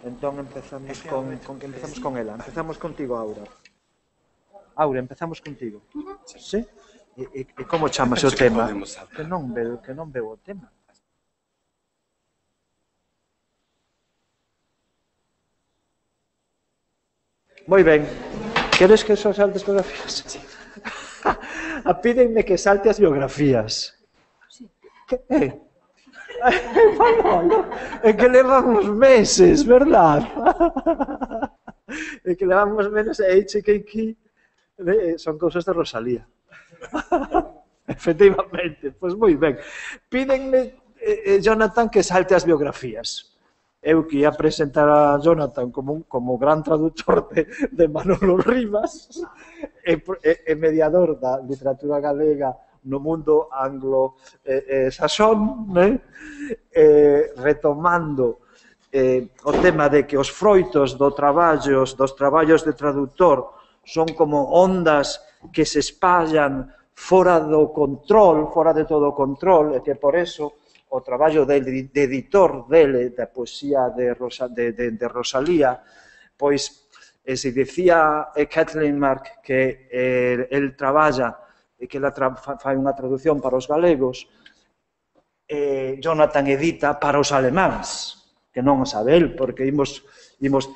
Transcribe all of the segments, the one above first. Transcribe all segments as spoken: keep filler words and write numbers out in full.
Entón empezamos con, con, empezamos con ela. Empezamos contigo, Aura. Aura, empezamos contigo. Sí? E, e, e como chamas o tema? Que non veo, que non veo o tema. Moi ben. Queres que só saltes biografías? Sí. Pídenme que salte as biografías. Sí. Que é? É que levamos meses, verdad? É que levamos meses e H K K son cousas de Rosalía. Efectivamente, pois moi ben. Pídenme, eh, Jonathan, que salte as biografías. Eu que ia presentar a Jonathan como, como gran traductor de, de Manolo Rivas e, e, e mediador da literatura galega no mundo anglo-saxón, eh, eh, retomando eh, o tema de que os froitos do traballos, dos traballos de traductor son como ondas que se espallan fora do control, fora de todo o control, e que por eso o traballo de, de editor dele, da poesía de, Rosa, de, de, de Rosalía, pois, eh, se dicía eh, Kathleen Mark que eh, el traballa e que ela fai unha traducción para os galegos, eh, Jonathan edita para os alemáns, que non o sabe el, porque imos, imos,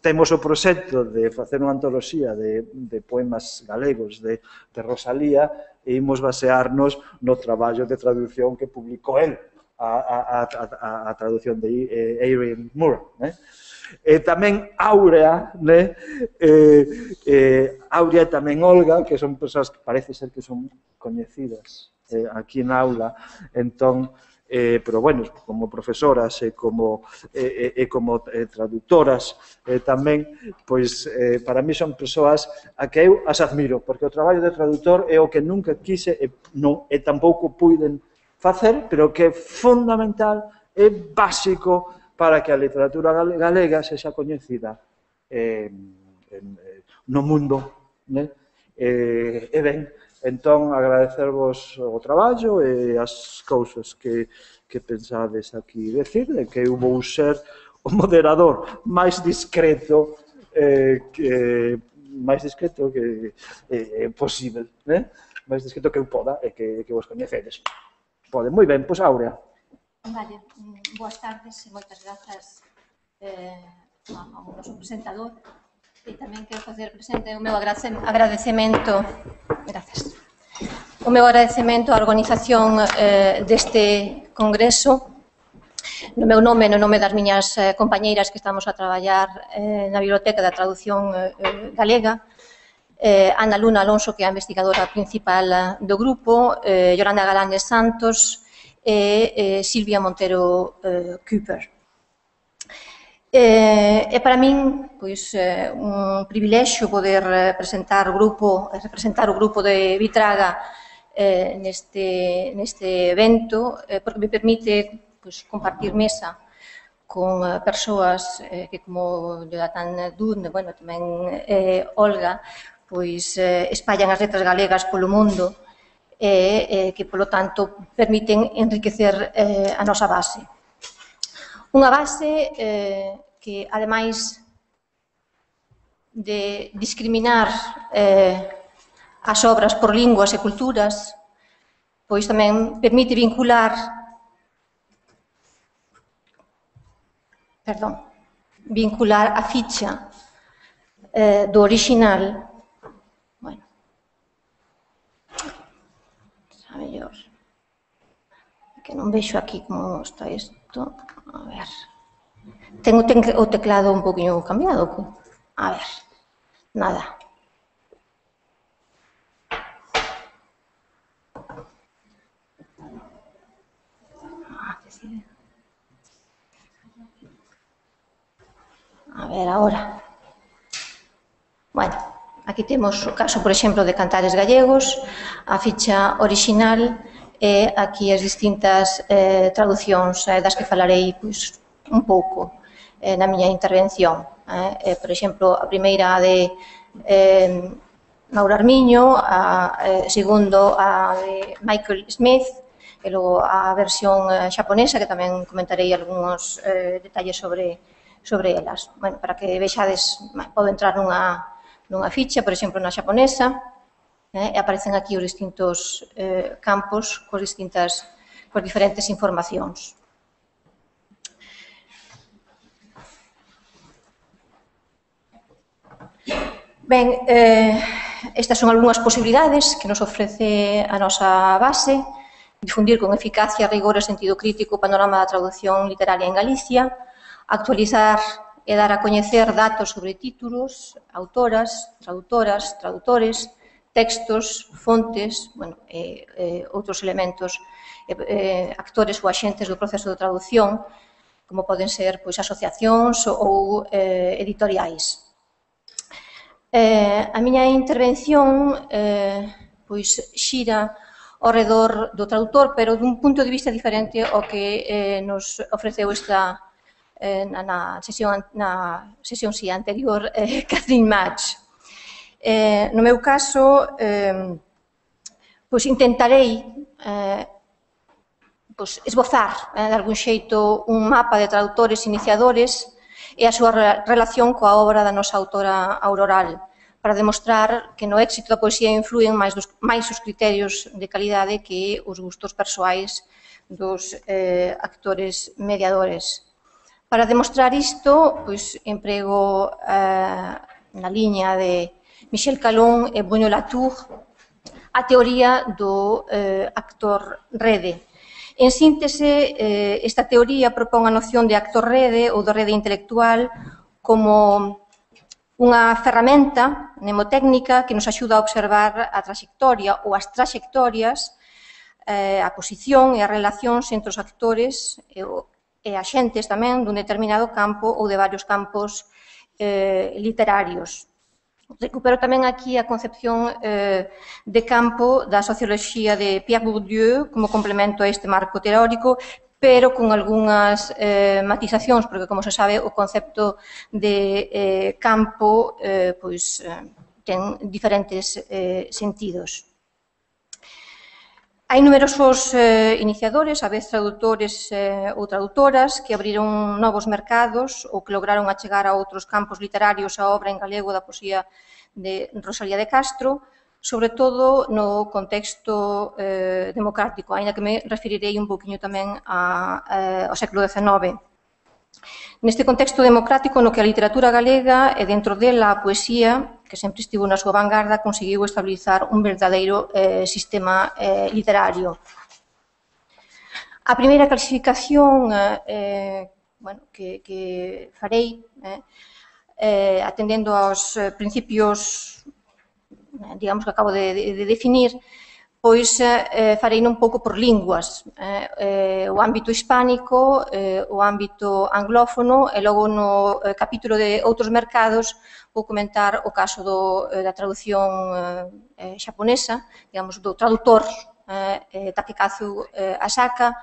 temos o proxecto de facer unha antoloxía de, de poemas galegos de, de Rosalía e imos basearnos no traballo de traducción que publicou el, a, a, a, a traducción de eh, Erin Moore. Eh? E tamén Áurea, né? eh, eh, Áurea e tamén Olga, que son persoas que parece ser que son coñecidas eh, aquí na aula, entón, eh, pero bueno, como profesoras e como, eh, eh, como eh, traductoras eh, tamén, pois eh, para mí son persoas a que eu as admiro, porque o traballo de traductor é o que nunca quise e, non, e tampouco puiden facer, pero que é fundamental, é básico para que a literatura galega sexa coñecida eh, en, eh, no mundo. Né? Eh, e ben, entón, agradecervos o traballo e as cousas que, que pensades aquí decir, de que eu vou ser o moderador máis discreto eh, que máis discreto que eh, posible, né? Máis discreto que eu poda e que, que vos coñecedes. Pode, moi ben, pois Áurea. Vale, boas tardes e moitas grazas eh, ao noso presentador e tamén quero facer presente o meu agradecemento grazas o meu agradecemento á organización eh, deste congreso no meu nome e no nome das miñas eh, compañeiras que estamos a traballar eh, na Biblioteca da Traducción eh, Galega, eh, Ana Luna Alonso, que é a investigadora principal do grupo, eh, Yolanda Galanes Santos e eh, Silvia Montero eh, Cooper. Eh, e para min, pois, eh, un privilexio poder eh, presentar o grupo, representar o grupo de Vitraga eh, neste, neste evento, eh, porque me permite pois, compartir mesa con eh, persoas eh, que, como Jonathan Dunn, bueno, tamén eh, Olga, pois eh, espallan as letras galegas polo mundo e eh, que, polo tanto, permiten enriquecer eh, a nosa base. Unha base eh, que, ademais de discriminar eh, as obras por linguas e culturas, pois tamén permite vincular perdón, vincular a ficha eh, do orixinal. Bueno, a mellor que non vexo aquí como está isto. A ver, tengo o teclado un poquinho cambiado. A ver, nada. A ver, agora. Bueno, aquí temos o caso, por exemplo, de Cantares Gallegos, a ficha orixinal e aquí as distintas eh, traducións eh, das que falarei pois, un pouco eh, na miña intervención. Eh, eh, por exemplo, a primeira de eh, Mauro Armiño, a eh, segundo a de Michael Smith e logo a versión xaponesa, que tamén comentarei algúns detalles sobre sobre elas. Bueno, para que vexades, podo entrar nunha, nunha ficha, por exemplo, na xaponesa, eh, e aparecen aquí os distintos eh, campos coas distintas, coas diferentes informacións. Ben, eh, estas son algunhas posibilidades que nos ofrece a nosa base, difundir con eficacia, rigor e sentido crítico o panorama da traducción literaria en Galicia, actualizar e dar a coñecer datos sobre títulos, autoras, traductoras, traductores, textos, fontes, bueno, e, e outros elementos, e, e, actores ou axentes do proceso de traducción, como poden ser pois, asociacións ou eh, editoriais. Eh, a miña intervención eh, pois, xira ao redor do traductor, pero dun punto de vista diferente ao que eh, nos ofreceu esta Na, na sesión, na sesión sí, anterior, eh, Catherine Match. Eh, no meu caso, eh, pois intentarei eh, pois esbozar, eh, de algún xeito, un mapa de traductores iniciadores e a súa relación coa obra da nosa autora Auroral, para demostrar que no éxito da poesía influen máis, dos, máis os criterios de calidade que os gustos persoais dos eh, actores mediadores. Para demostrar isto, pois, emprego eh, na liña de Michel Calon e Bruno Latour a teoría do eh, actor rede. En síntese, eh, esta teoría propón a noción de actor rede ou de rede intelectual como unha ferramenta mnemotécnica que nos axuda a observar a traxectoria ou as traxectorias, eh, a posición e as relacións entre os actores e o e axentes tamén dun determinado campo ou de varios campos eh, literarios. Recupero tamén aquí a concepción eh, de campo da socioloxía de Pierre Bourdieu como complemento a este marco teórico, pero con algunhas eh, matizacións, porque, como se sabe, o concepto de eh, campo eh, pois, eh, ten diferentes eh, sentidos. Hai numerosos eh, iniciadores, a vez traductores eh, ou traductoras, que abriron novos mercados ou que lograron achegar a outros campos literarios a obra en galego da poesía de Rosalía de Castro, sobre todo no contexto eh, democrático, aínda que me referirei un poquinho tamén a, eh, ao século decenove. Neste contexto democrático no que a literatura galega e dentro dela a poesía, que sempre estivo na súa vanguarda, conseguiu estabilizar un verdadeiro eh, sistema eh, literario. A primeira clasificación eh, bueno, que, que farei, eh, eh, atendendo aos eh, principios, eh, digamos que acabo de, de, de definir, pois eh, farei un pouco por linguas, eh, eh, o ámbito hispánico, eh, o ámbito anglófono, e logo no eh, capítulo de outros mercados vou comentar o caso do, eh, da traducción eh, xaponesa, digamos, do traductor eh, Takekazu eh, Asaka,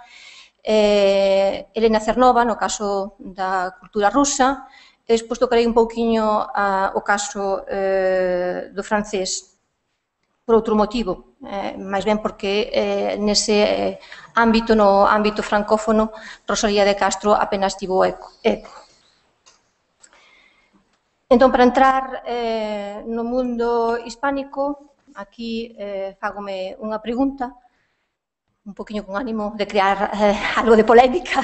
eh, Elena Cernova, no caso da cultura rusa, e despois tocarei un pouquiño a, o caso eh, do francés, por outro motivo, eh, máis ben porque eh, nese eh, ámbito, no ámbito francófono, Rosalía de Castro apenas tivo eco. eco. Entón, para entrar eh, no mundo hispánico, aquí eh, fágome unha pregunta, un poquinho con ánimo de crear eh, algo de polémica.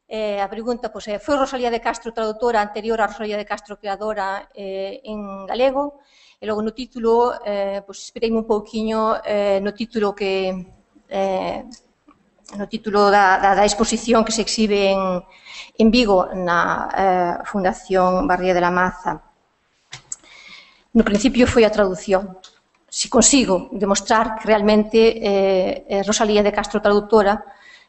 Eh, a pregunta, pois, é, foi Rosalía de Castro traductora anterior a Rosalía de Castro creadora eh, en galego? E logo no título, eh, pois, espereime un pouquiño eh, no título que eh, no título da, da, da exposición que se exhibe en, en Vigo na eh, Fundación Barría de la Maza. No principio foi a traducción. Si consigo demostrar que realmente eh, Rosalía de Castro traductora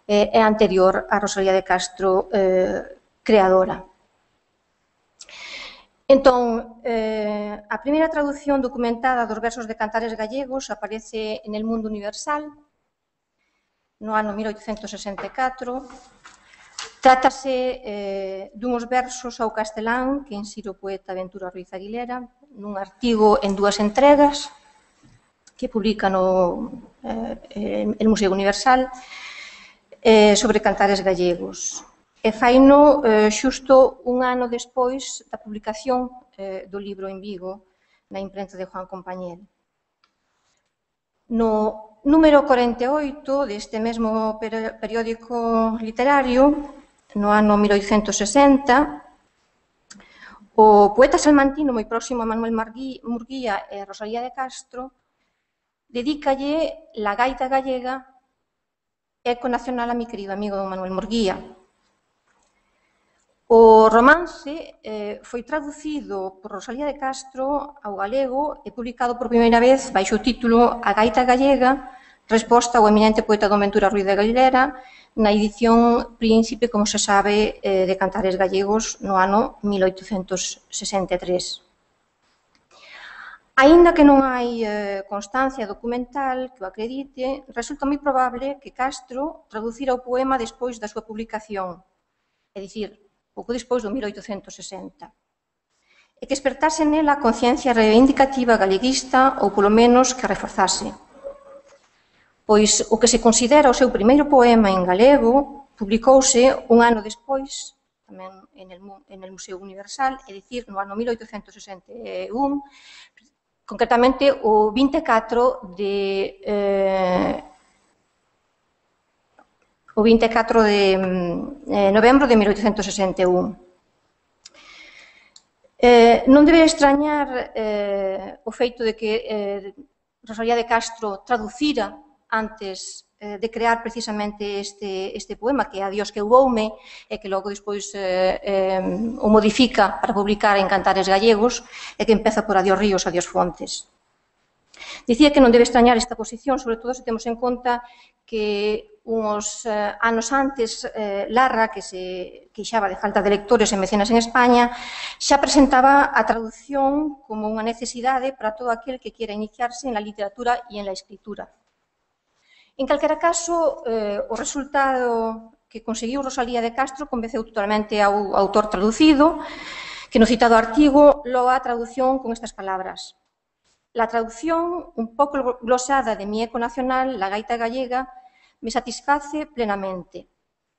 eh, é anterior a Rosalía de Castro eh, creadora. Entón, eh, a primeira traducción documentada dos versos de Cantares Gallegos aparece en El Mundo Universal, no ano mil oitocentos sesenta e catro. Trátase eh, dunhos versos ao castelán que insire o poeta Ventura Ruiz Aguilera nun artigo en dúas entregas que publica no, eh, el Museo Universal, eh, sobre cantares gallegos. E faino eh, xusto un ano despois da publicación eh, do libro en Vigo na imprenta de Juan Compañel. No número corenta e oito deste mesmo periódico literario, no ano mil oitocentos sesenta, o poeta salmantino moi próximo a Manuel Murguía e Rosalía de Castro dedícalle La gaita gallega, eco nacional a mi querido amigo don Manuel Murguía. O romance eh, foi traducido por Rosalía de Castro ao galego e publicado por primeira vez baixo o título A gaita gallega, resposta ao eminente poeta don Ventura Ruiz de Galera, na edición Príncipe, como se sabe, eh, de Cantares Gallegos no ano mil oitocentos sesenta e tres. Aínda que non hai eh, constancia documental que o acredite, resulta moi probable que Castro traducira o poema despois da súa publicación, é dicir, pouco despois do mil oitocentos sesenta, e que espertase nela a conciencia reivindicativa galeguista ou, polo menos, que a reforzase. Pois o que se considera o seu primeiro poema en galego publicouse un ano despois, tamén en el, en el Museo Universal, é dicir, no ano mil oitocentos sesenta e un, concretamente o vinte e catro de... Eh, o vinte e catro de eh, novembro de mil oitocentos sesenta e un. Eh, non debe extrañar eh, o feito de que eh, Rosalía de Castro traducira antes eh, de crear precisamente este, este poema, que é Adiós que eu voume, e que logo despois eh, eh, o modifica para publicar en Cantares Gallegos, e que empeza por Adiós ríos, adiós fontes. Dicía que non debe extrañar esta posición, sobre todo se temos en conta que uns eh, anos antes, eh, Larra, que se queixaba de falta de lectores e mecenas en España, xa presentaba a traducción como unha necesidade para todo aquel que quiera iniciarse en la literatura e en la escritura. En calquera caso, eh, o resultado que conseguiu Rosalía de Castro convenceu totalmente ao autor traducido, que no citado artigo loa a traducción con estas palabras. La traducción, un pouco glosada de mi eco nacional, la gaita gallega, me satisface plenamente.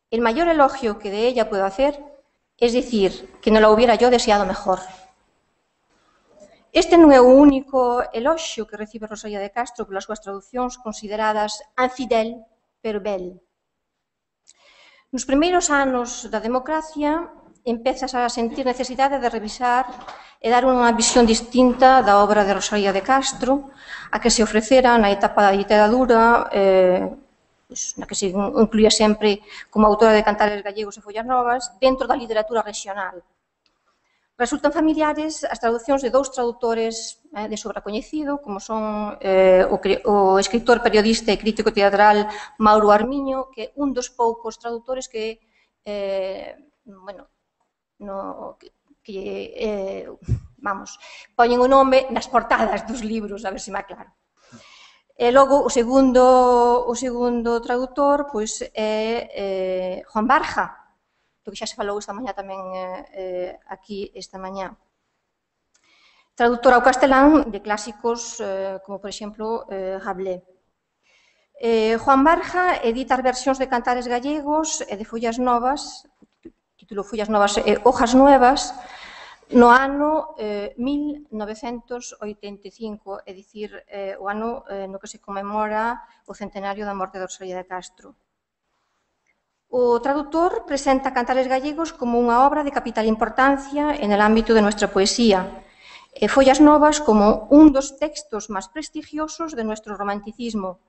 El mayor elogio que de ella puedo hacer es decir que no la hubiera yo deseado mejor. Este non é o único eloxio que recibe Rosalía de Castro polas súas traducións consideradas infidel pero bel. Nos primeiros anos da democracia empezas a sentir necesidade de revisar e dar unha visión distinta da obra de Rosalía de Castro, a que se ofrecera na etapa da ditadura, eh, pues, na que se incluía sempre como autora de Cantares Gallegos e Follas Novas, dentro da literatura regional. Resultan familiares as traducións de dous traductores eh, de sobra coñecido, como son eh, o, o escritor, periodista e crítico teatral Mauro Armiño, que é un dos poucos traductores que, eh, bueno, no, que, que eh, vamos, poñen o nome nas portadas dos libros, a ver se me aclaro. E logo, o segundo, o segundo tradutor, pois, é eh, Juan Barja, do que xa se falou esta mañá tamén eh, aquí esta mañá. Traductor ao castelán de clásicos eh, como, por exemplo, eh, Rabelais. Eh, Juan Barja edita as versións de Cantares Gallegos e de Follas Novas, título Follas Novas e Hojas Nuevas, no ano eh, mil novecentos oitenta e cinco, é dicir, eh, o ano eh, no que se conmemora o centenario da morte de Rosalía de Castro. O traductor presenta Cantares Gallegos como unha obra de capital importancia en el ámbito de nuestra poesía, e Follas Novas como un dos textos máis prestigiosos de nuestro romanticismo,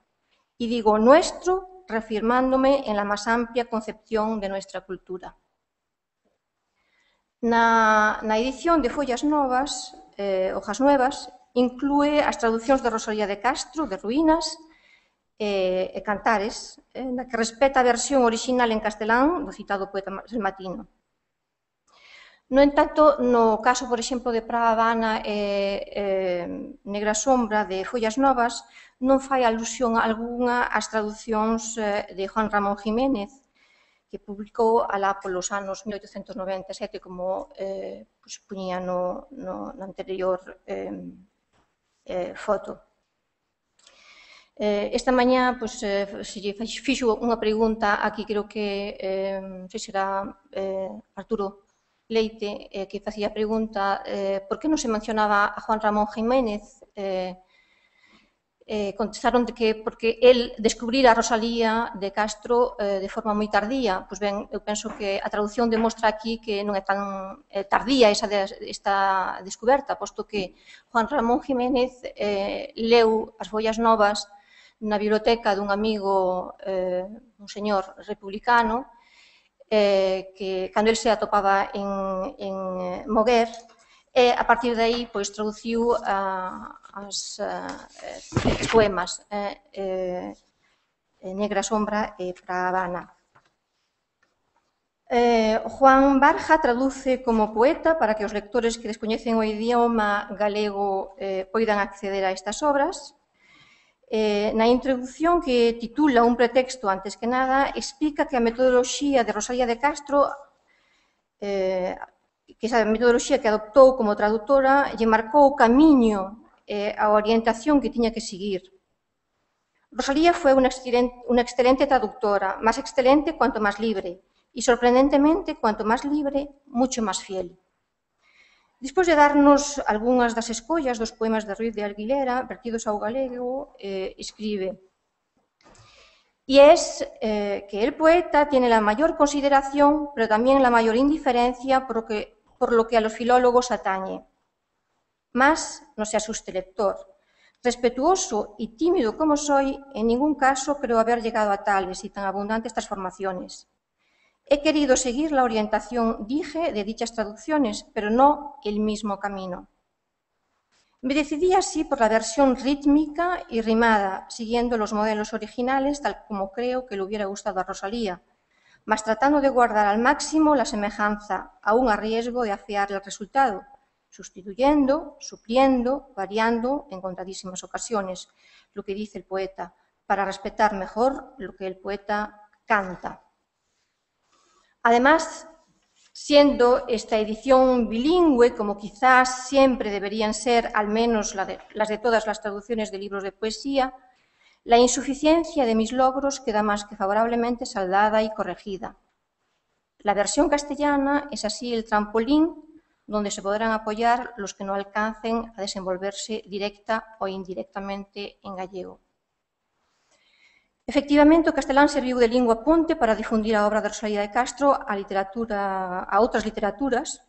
y digo nuestro, reafirmándome en la más amplia concepción de nuestra cultura. Na, na edición de Follas Novas, eh, Hojas Nuevas, inclúe as traducións de Rosalía de Castro, de Ruínas, e, e Cantares, eh, na que respeta a versión original en castelán do citado poeta salmantino. No entanto, no caso, por exemplo, de Praga Habana e eh, Negra Sombra de Follas Novas, non fai alusión algunha ás traducións eh, de Juan Ramón Jiménez, que publicou alá polos anos mil oitocentos noventa e sete, como eh, pues, puñía no, no, no anterior eh, eh, foto. Esta mañá, pois, se lle fixo unha pregunta aquí, creo que, non sei se era Arturo Leite, que facía a pregunta por que non se mencionaba a Juan Ramón Jiménez. Contestaron que porque el descubrira a Rosalía de Castro de forma moi tardía. Pois ben, eu penso que a traducción demostra aquí que non é tan tardía esta descoberta, posto que Juan Ramón Jiménez leu as Follas Novas na biblioteca dun amigo, un señor republicano, que cando el se atopaba en Moguer, e a partir de aí traduciu os poemas Negra Sombra e Pra Habana. Juan Barja traduce como poeta para que os lectores que descoñecen o idioma galego poidan acceder a estas obras. Na introdución, que titula Un pretexto antes que nada, explica que a metodoloxía de Rosalía de Castro, que esa metodoloxía que adoptou como traductora, lle marcou o camiño e a orientación que tiña que seguir. Rosalía foi unha excelente traductora, máis excelente cuanto máis libre, e sorprendentemente, cuanto máis libre, mucho máis fiel. Despois de darnos algunhas das escollas dos poemas de Ruiz de Aguilera, vertidos ao galego, escribe: y es que el poeta tiene la mayor consideración, pero también la mayor indiferencia por lo que, por lo que a los filólogos atañe. Mas no se asuste lector. Respetuoso y tímido como soy, en ningún caso creo haber llegado a tales y tan abundantes transformaciones. He querido seguir la orientación, dije, de dichas traducciones, pero no el mismo camino. Me decidí así por la versión rítmica y rimada, siguiendo los modelos originales, tal como creo que le hubiera gustado a Rosalía, mas tratando de guardar al máximo la semejanza, aún a riesgo de afear el resultado, sustituyendo, supliendo, variando en contadísimas ocasiones, lo que dice el poeta, para respetar mejor lo que el poeta canta. Además, siendo esta edición bilingüe, como quizás siempre deberían ser, al menos la de, las de todas las traducciones de libros de poesía, la insuficiencia de mis logros queda más que favorablemente saldada y corregida. La versión castellana es así el trampolín donde se podrán apoyar los que no alcancen a desenvolverse directa o indirectamente en gallego. Efectivamente, o castelán serviu de lingua ponte para difundir a obra de Rosalía de Castro a, literatura, a outras literaturas,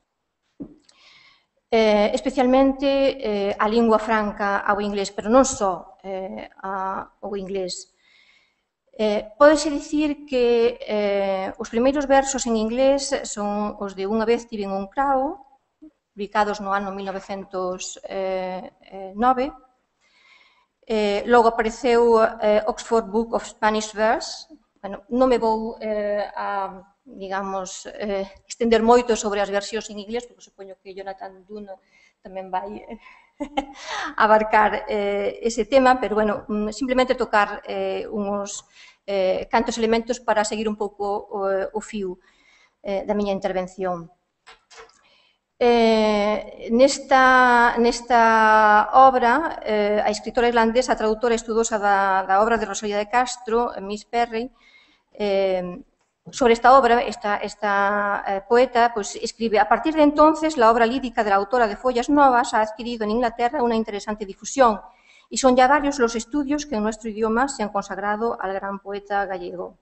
eh, especialmente eh, a lingua franca ao inglés, pero non só eh, ao inglés. Eh, Pódese dicir que eh, os primeiros versos en inglés son os de Unha vez tiven un cravo, publicados no ano mil novecentos nove, Eh, logo apareceu eh, Oxford Book of Spanish Verse. Bueno, non me vou eh, a, digamos, eh, estender moito sobre as versións en inglés, porque supoño que Jonathan Dunn tamén vai eh, abarcar eh, ese tema, pero, bueno, simplemente tocar eh, uns eh, cantos elementos para seguir un pouco o, o fío eh, da miña intervención. Eh, nesta, nesta obra, eh, a escritora irlandesa, a traductora estudosa da, da obra de Rosalía de Castro, Miss Perry, eh, sobre esta obra, esta, esta eh, poeta, pues, escribe: a partir de entonces, la obra lírica de la autora de Follas Novas ha adquirido en Inglaterra una interesante difusión, y son ya varios los estudios que en nuestro idioma se han consagrado al gran poeta gallego.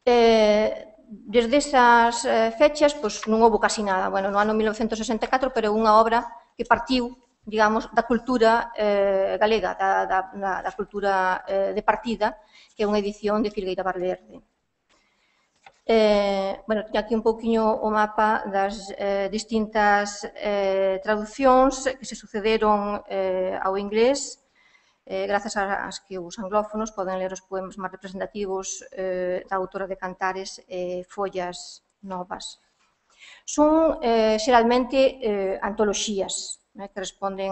Eh, Desde esas eh, fechas, pois, non houve casi nada. Bueno, no ano mil novecentos sesenta e catro, pero unha obra que partiu, digamos, da cultura eh, galega, da, da, da cultura eh, de partida, que é unha edición de Filgueira Valverde. Eh, bueno, teño aquí un pouquiño o mapa das eh, distintas eh, traduccións que se sucederon eh, ao inglés, Eh, grazas ás que os anglófonos poden ler os poemas máis representativos eh, da autora de Cantares e eh, Follas Novas. Son eh, xeralmente eh, antoloxías eh, que responden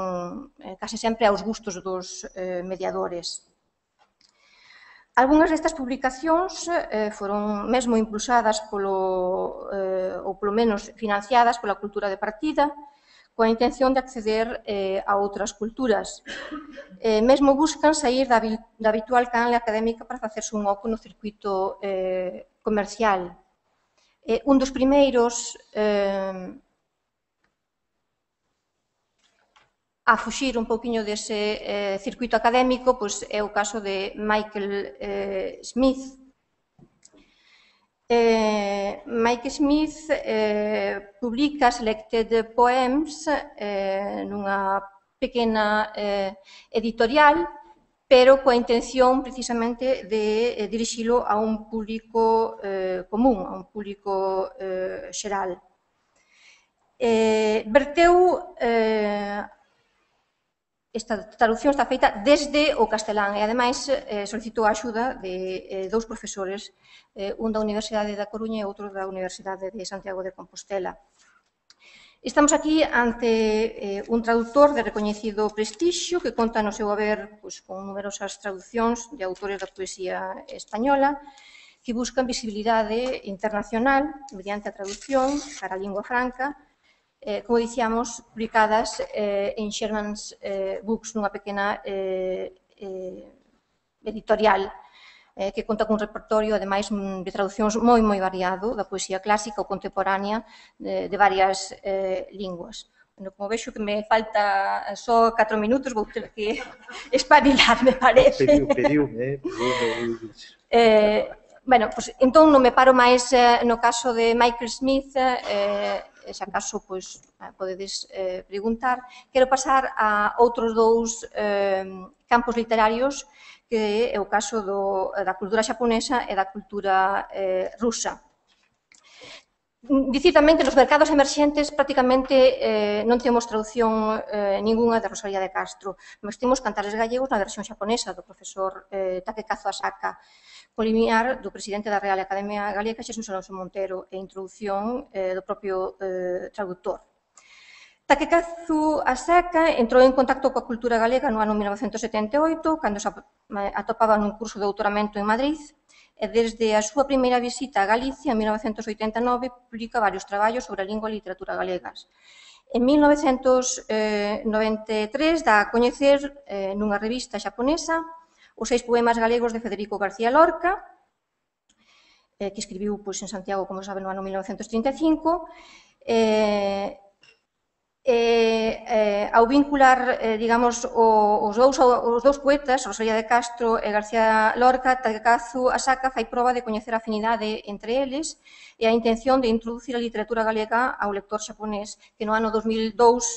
eh, case sempre aos gustos dos eh, mediadores. Algúnas destas publicacións eh, foron mesmo impulsadas polo, eh, ou polo menos financiadas pola cultura de partida, coa intención de acceder eh, a outras culturas. Eh, mesmo buscan sair da, da habitual canle académica para facerse un oco no circuito eh, comercial. Eh, un dos primeiros eh, a fuxir un pouquiño dese eh, circuito académico pois, é o caso de Michael eh, Smith. Eh, Mike Smith eh, publica Selected Poems eh, nunha pequena eh, editorial, pero coa intención precisamente de eh, dirixilo a un público eh, común, a un público eh, xeral. Eh, verteu eh, esta traducción está feita desde o castelán e, ademais, eh, solicitou a axuda de eh, dous profesores, eh, un da Universidade da Coruña e outro da Universidade de Santiago de Compostela. Estamos aquí ante eh, un traductor de recoñecido prestixio que conta no seu haber pois, con numerosas traduccións de autores da poesía española que buscan visibilidade internacional mediante a traducción para a lingua franca, Eh, como dicíamos, publicadas eh, en Sherman's eh, Books, nunha pequena eh, eh, editorial eh, que conta cun repertorio, ademais, de traduccións moi, moi variado da poesía clásica ou contemporánea de, de varias eh, linguas. Bueno, como vexo que me falta só catro minutos, vou ter que espabilar, me parece. Pediu, pediu, eh? Pediu, eh, bueno, pues, entón non me paro máis eh, no caso de Michael Smith, eh, se acaso pois, podedes eh, preguntar. Quero pasar a outros dous eh, campos literarios, que é o caso do, da cultura xaponesa e da cultura eh, rusa. Dicir tamén que nos mercados emerxentes prácticamente eh, non temos traducción eh, ninguna de Rosalía de Castro, mas temos Cantares gallegos na versión xaponesa do profesor eh, Takekazu Asaka, con limiar do presidente da Real Academia Galega, Xesús Alonso Montero, e introdución eh, do propio eh, traductor. Takekazu Asaka entrou en contacto coa cultura galega no ano mil novecentos setenta e oito, cando se atopaba nun curso de doutoramento en Madrid, e desde a súa primeira visita a Galicia, en mil novecentos oitenta e nove, publica varios traballos sobre a lingua e literatura galegas. En mil novecentos noventa e tres dá a coñecer eh, nunha revista xaponesa os seis poemas galegos de Federico García Lorca, eh, que escribiu pois, en Santiago, como saben, no ano mil novecentos trinta e cinco, eh, E, eh, ao vincular, eh, digamos, o, os, dous, os dous poetas, Rosalía de Castro e García Lorca, Takekazu Asaka fai proba de coñecer a afinidade entre eles e a intención de introducir a literatura galega ao lector xaponés, que no ano dos mil dous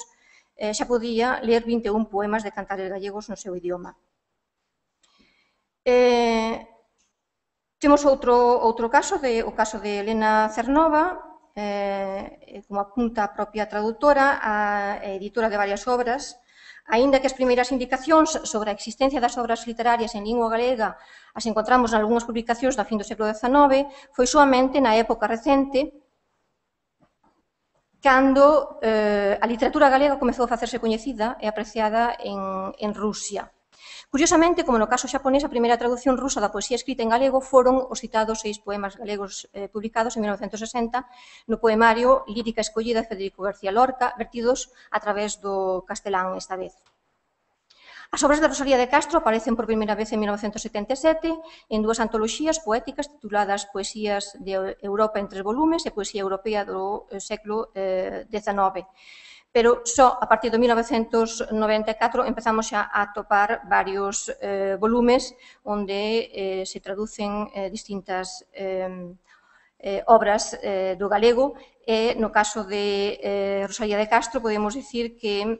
eh, xa podía ler vinte e un poemas de cantares gallegos no seu idioma. Eh, temos outro, outro caso, de, o caso de Elena Cernova, Eh, como apunta a propia traductora, a editora de varias obras, aínda que as primeiras indicacións sobre a existencia das obras literarias en lingua galega as encontramos en algunhas publicacións da fin do século dezanove, foi soamente na época recente cando eh, a literatura galega comezou a facerse coñecida e apreciada en, en Rusia. Curiosamente, como no caso xaponés, a primeira traducción rusa da poesía escrita en galego foron os citados seis poemas galegos eh, publicados en mil novecentos sesenta no poemario Lírica escollida de Federico García Lorca, vertidos a través do castelán esta vez. As obras de Rosalía de Castro aparecen por primeira vez en mil novecentos setenta e sete en dúas antoloxías poéticas tituladas Poesías de Europa en tres volumes e Poesía Europea do século dezanove. Pero só a partir de mil novecentos noventa e catro empezamos xa a atopar varios eh, volumes onde eh, se traducen eh, distintas eh, eh, obras eh, do galego e no caso de eh, Rosalía de Castro podemos dicir que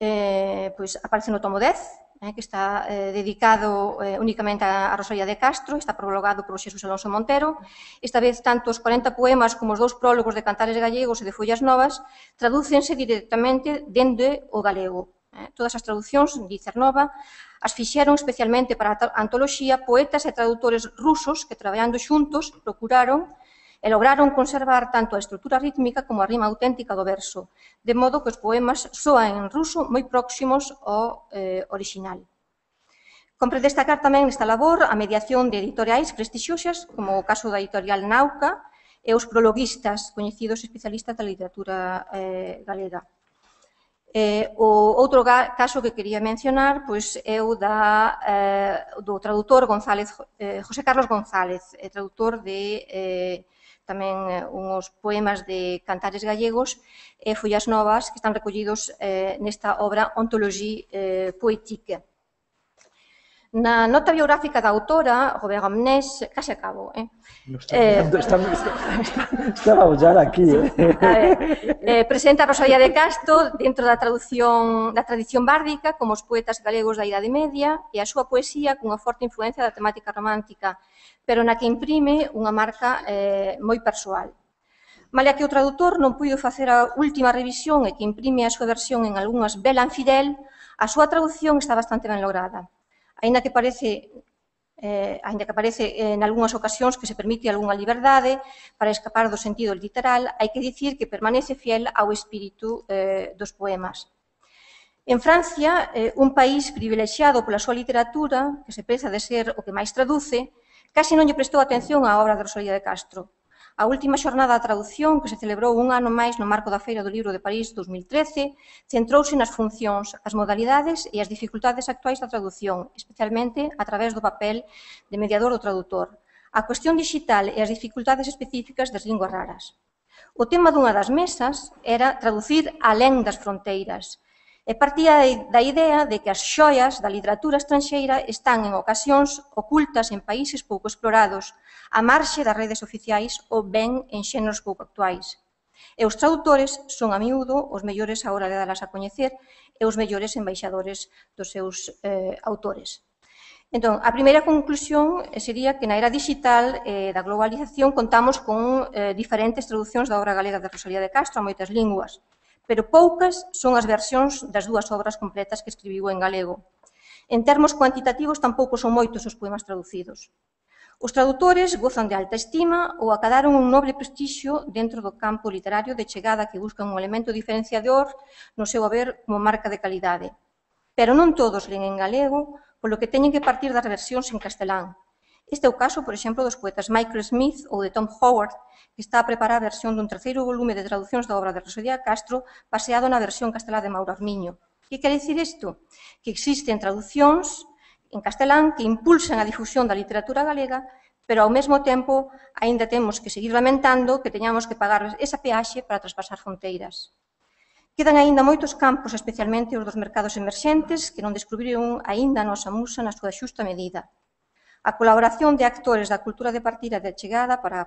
eh, pois aparece no tomo dez, eh, que está eh, dedicado eh, únicamente a, a Rosalía de Castro, está prologado por Xesús Alonso Montero. Esta vez, tanto os corenta poemas como os dous prólogos de Cantares gallegos e de Follas Novas tradúcense directamente dende o galego. Eh, todas as traducións, di Cernova, as fixeron especialmente para a antoloxía poetas e tradutores rusos que, traballando xuntos, procuraron e lograron conservar tanto a estrutura rítmica como a rima auténtica do verso, de modo que os poemas soan en ruso moi próximos ao eh, original. Compre destacar tamén nesta labor a mediación de editoriais prestixiosas, como o caso da editorial Nauca, e os prologuistas, coñecidos especialistas da literatura eh, galega. Eh, o outro caso que quería mencionar pois, é o da, eh, do tradutor González, eh, José Carlos González, eh, tradutor de eh, tamén eh, uns poemas de cantares gallegos e follas novas que están recollidos eh, nesta obra Ontologie eh, poétique. Na nota biográfica da autora, Robert Amnés, case acabo, eh? No está mirando, eh, está, está, está, estaba ya aquí, eh? ver, eh, presenta a Rosalía de Castro dentro da traducción da tradición bárdica como os poetas galegos da Idade Media e a súa poesía cunha forte influencia da temática romántica, pero na que imprime unha marca eh, moi persoal. Malia que o tradutor non puido facer a última revisión e que imprime a súa versión en algunhas bela infidel, a súa traducción está bastante ben lograda. Aínda que parece, eh, aínda que aparece en algunhas ocasións que se permite algunha liberdade para escapar do sentido literal, hai que dicir que permanece fiel ao espírito eh, dos poemas. En Francia, eh, un país privilexiado pola súa literatura, que se preza de ser o que máis traduce, case non lle prestou atención á obra de Rosalía de Castro. A última xornada da traducción, que se celebrou un ano máis no marco da Feira do Libro de París dos mil trece, centrouse nas funcións, as modalidades e as dificultades actuais da traducción, especialmente a través do papel de mediador do tradutor, a cuestión digital e as dificultades específicas das linguas raras. O tema dunha das mesas era traducir alén das fronteiras, e partía da idea de que as xoias da literatura estranxeira están en ocasións ocultas en países pouco explorados, a marxe das redes oficiais ou ben en xéneros pouco actuais. E os traductores son a miúdo os mellores a hora de dalas a coñecer e os mellores embaixadores dos seus eh, autores. Entón, a primeira conclusión sería que na era digital eh, da globalización contamos con eh, diferentes traducións da obra galega de Rosalía de Castro a moitas linguas, pero poucas son as versións das dúas obras completas que escribiu en galego. En termos cuantitativos, tampouco son moitos os poemas traducidos. Os tradutores gozan de alta estima ou acadaron un nobre prestixio dentro do campo literario de chegada que buscan un elemento diferenciador no seu haber como marca de calidade. Pero non todos len en galego, polo que teñen que partir das versións en castelán. Este é o caso, por exemplo, dos poetas Michael Smith ou de Tom Howard, que está a preparar a versión dun terceiro volume de traducións da obra de Rosalía Castro baseado na versión castelá de Mauro Armiño. Que quere dicir isto? Que existen traducións en castelán que impulsan a difusión da literatura galega, pero ao mesmo tempo aínda temos que seguir lamentando que teñamos que pagar esa peaxe para traspasar fronteiras. Quedan aínda moitos campos, especialmente os dos mercados emerxentes, que non descubriron aínda a nosa musa na súa xusta medida. A colaboración de actores da cultura de partida de chegada para,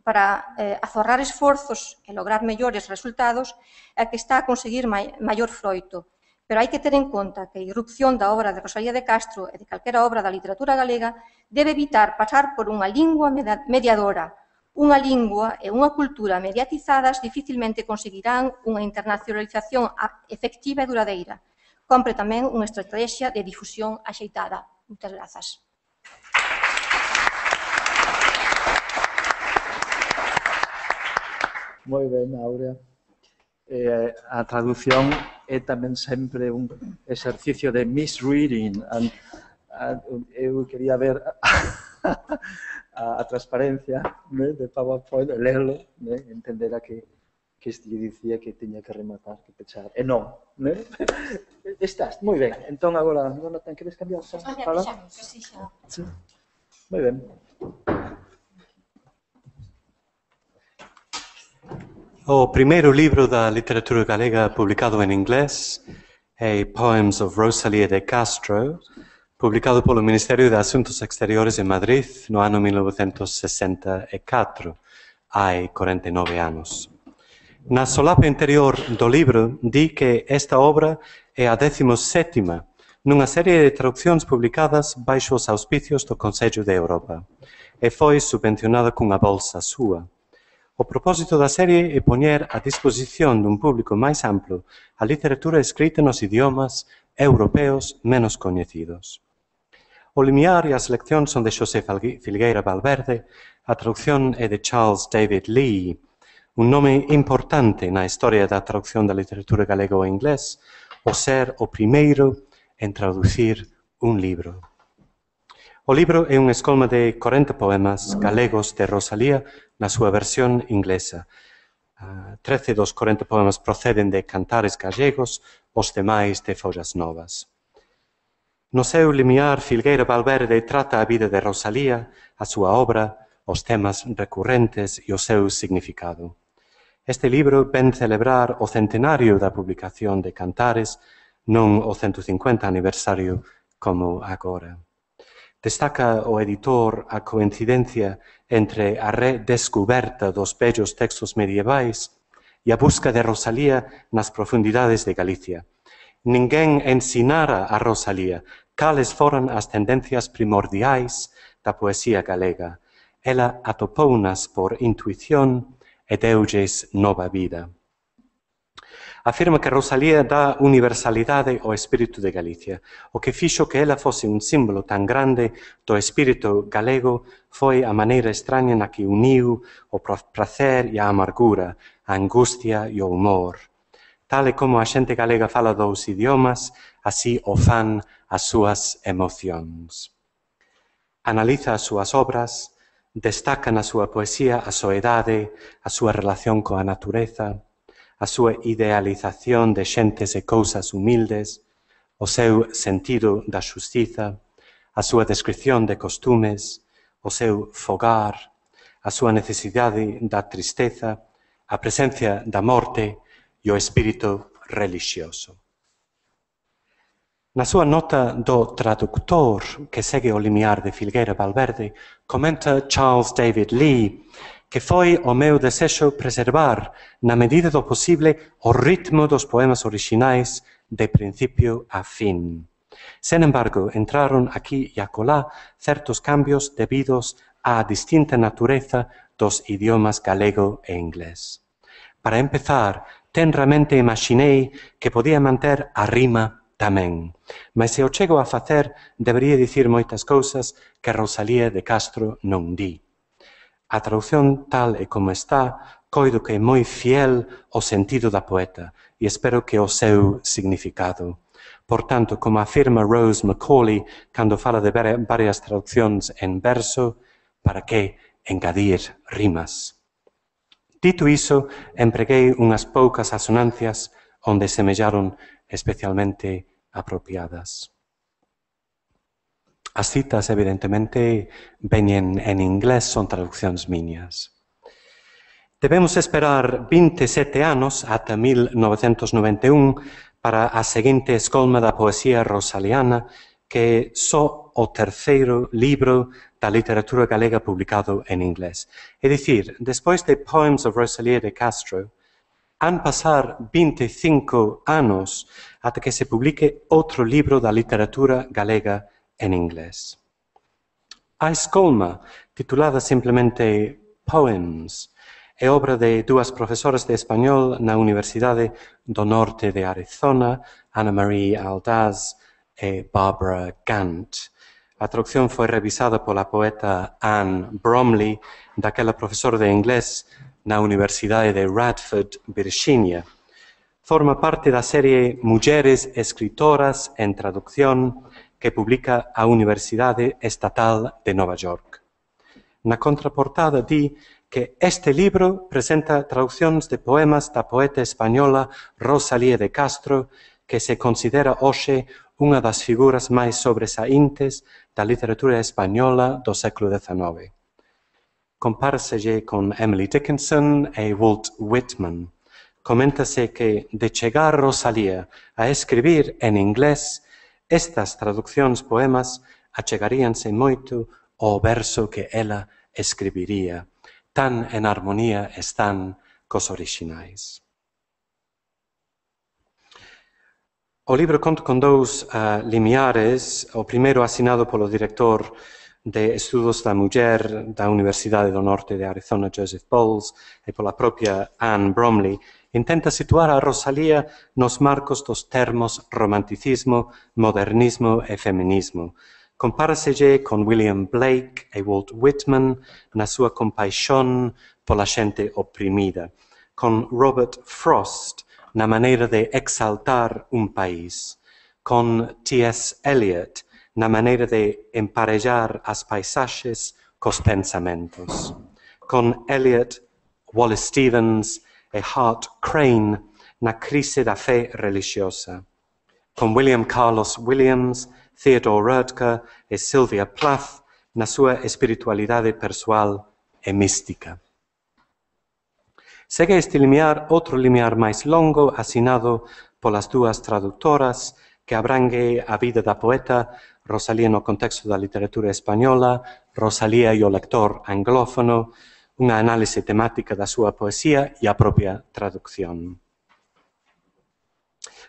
para eh, azorrar esforzos e lograr mellores resultados é que está a conseguir mai, maior froito. Pero hai que ter en conta que a irrupción da obra de Rosalía de Castro e de calquera obra da literatura galega debe evitar pasar por unha lingua mediadora. Unha lingua e unha cultura mediatizadas dificilmente conseguirán unha internacionalización efectiva e duradeira. Compre tamén unha estrategia de difusión axeitada. Moitas grazas. Moi ben, Áurea. Eh, a traducción é tamén sempre un exercicio de misreading. And, and, eu quería ver a, a transparencia, né, de PowerPoint, lerlo, né, entender a que, que este dicía que tiña que rematar, que pechar. E non, né? Estás, moi ben. Entón, agora, Jonathan, queres cambiar? Xa? Fala? Sí. Moi ben. O primeiro libro da literatura galega publicado en inglés é Poems of Rosalía de Castro, publicado polo Ministerio de Asuntos Exteriores en Madrid no ano mil novecentos sesenta e catro, hai corenta e nove anos. Na solapa interior do libro di que esta obra é a décimo sétima nunha serie de traduccións publicadas baixo os auspicios do Consello de Europa e foi subvencionada cunha bolsa súa. O propósito da serie é poñer a disposición dun público máis amplo a literatura escrita nos idiomas europeos menos coñecidos. O limiar e a selección son de Xosé Filgueira Valverde, a traducción é de Charles David Lee, un nome importante na historia da traducción da literatura galega ao inglés, o ser o primeiro en traducir un libro. O libro é unha escolma de corenta poemas galegos de Rosalía na súa versión inglesa. Uh, trece dos corenta poemas proceden de cantares gallegos, os demais de follas novas. No seu limiar, Filgueira Valverde trata a vida de Rosalía, a súa obra, os temas recurrentes e o seu significado. Este libro ven celebrar o centenario da publicación de Cantares, non o ciento cincuenta aniversario como agora. Destaca o editor a coincidencia entre a redescoberta dos bellos textos medievais e a busca de Rosalía nas profundidades de Galicia. Ninguén ensinara a Rosalía cales foran as tendencias primordiais da poesía galega. Ela atopounas por intuición e deulles nova vida. Afirma que Rosalía dá universalidade ao espírito de Galicia. O que fixo que ela fose un símbolo tan grande do espírito galego foi a maneira extraña na que uniu o prazer e a amargura, a angustia e o humor. Tal e como a xente galega fala dous idiomas, así o fan as súas emocións. Analiza as súas obras, destaca na súa poesía a soedade, a súa relación coa natureza, a súa idealización de xentes e cousas humildes, o seu sentido da xustiza, a súa descripción de costumes, o seu fogar, a súa necesidade da tristeza, a presencia da morte e o espírito relixioso. Na súa nota do traductor que segue o limiar de Filgueira Valverde, comenta Charles David Lee que foi o meu desexo preservar, na medida do posible, o ritmo dos poemas orixinais de principio a fin. Sen embargo, entraron aquí e acolá certos cambios debidos á distinta natureza dos idiomas galego e inglés. Para empezar, tenramente imaginei que podía manter a rima tamén, mas se o chego a facer, debería dicir moitas cousas que Rosalía de Castro non di. A traducción tal e como está, coido que é moi fiel ao sentido da poeta e espero que o seu significado. Por tanto, como afirma Rose Macaulay cando fala de varias traduccións en verso, para que engadir rimas? Dito iso, empreguei unhas poucas asonancias onde semellaron especialmente apropiadas. As citas, evidentemente, veñen en inglés, son traduccións miñas. Debemos esperar vinte e sete anos, ata mil novecentos noventa e un, para a seguinte escolma da poesía rosaliana, que é só o terceiro libro da literatura galega publicado en inglés. É dicir, despois de Poems of Rosalía de Castro, han pasar vinte e cinco anos ata que se publique outro libro da literatura galega en inglés. A escolma, titulada simplemente Poems, é obra de dúas profesoras de español na Universidade do Norte de Arizona, Ana Marie Aldaz e Barbara Gant. A traducción foi revisada pola poeta Anne Bromley, daquela profesora de inglés na Universidade de Radford, Virginia. Forma parte da serie Mulleres Escritoras en Traducción que publica a Universidade Estatal de Nova York. Na contraportada di que este libro presenta traduccións de poemas da poeta española Rosalía de Castro, que se considera hoxe unha das figuras máis sobresaíntes da literatura española do século dezenove. Compárselle con Emily Dickinson e Walt Whitman. Coméntase que, de chegar Rosalía a escribir en inglés, estas traduccións poemas achegaríanse moito ao verso que ela escribiría. Tan en armonía están cos orixinais. O libro conta con dous uh, limiares, o primeiro asinado polo director de Estudos da Muller da Universidade do Norte de Arizona, Joseph Bowles, e pola propia Anne Bromley, intenta situar a Rosalía nos marcos dos termos romanticismo, modernismo e feminismo. Compáraselle con William Blake e Walt Whitman na súa compaixón pola xente oprimida, con Robert Frost na maneira de exaltar un país, con T S Eliot na maneira de emparellar as paisaxes cos pensamentos. Con Eliot, Wallace Stevens e Hart Crane na crise da fe religiosa. Con William Carlos Williams, Theodore Roethke e Sylvia Plath na súa espiritualidade persoal e mística. Segue este limiar outro limiar máis longo asinado polas dúas traductoras que abrangue a vida da poeta, Rosalía no contexto da literatura española, Rosalía e o lector anglófono, unha análise temática da súa poesía e a propia traducción.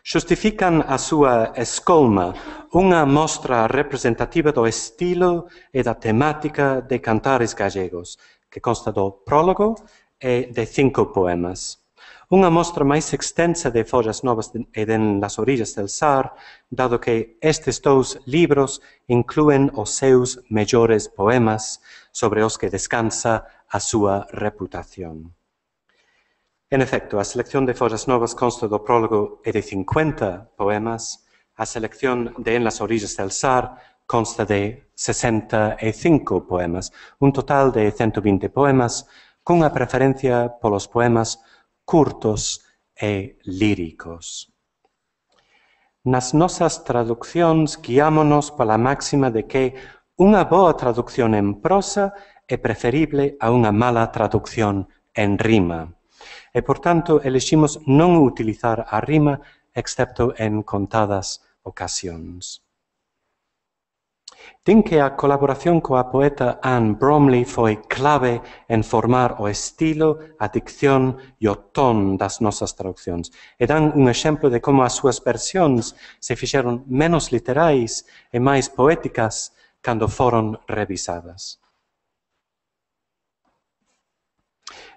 Xustifican a súa escolma unha mostra representativa do estilo e da temática de Cantares Gallegos, que consta do prólogo e de cinco poemas. Unha mostra máis extensa de Follas Novas e de Las Orillas del Sar, dado que estes dous libros inclúen os seus mellores poemas sobre os que descansa a súa reputación. En efecto, a selección de Follas Novas consta do prólogo e de cincuenta poemas, a selección de En las Orillas del Sar consta de sesenta e cinco poemas, un total de ciento vinte poemas, cunha preferencia polos poemas curtos e líricos. Nas nosas traduccións guiámonos pola máxima de que unha boa traducción en prosa é preferible a unha mala traducción en rima. E, por tanto, eleximos non utilizar a rima excepto en contadas ocasións. Din que a colaboración coa poeta Anne Bromley foi clave en formar o estilo, a dicción e o ton das nosas traduccións. E dan un exemplo de como as súas versións se fixeron menos literais e máis poéticas cando foron revisadas.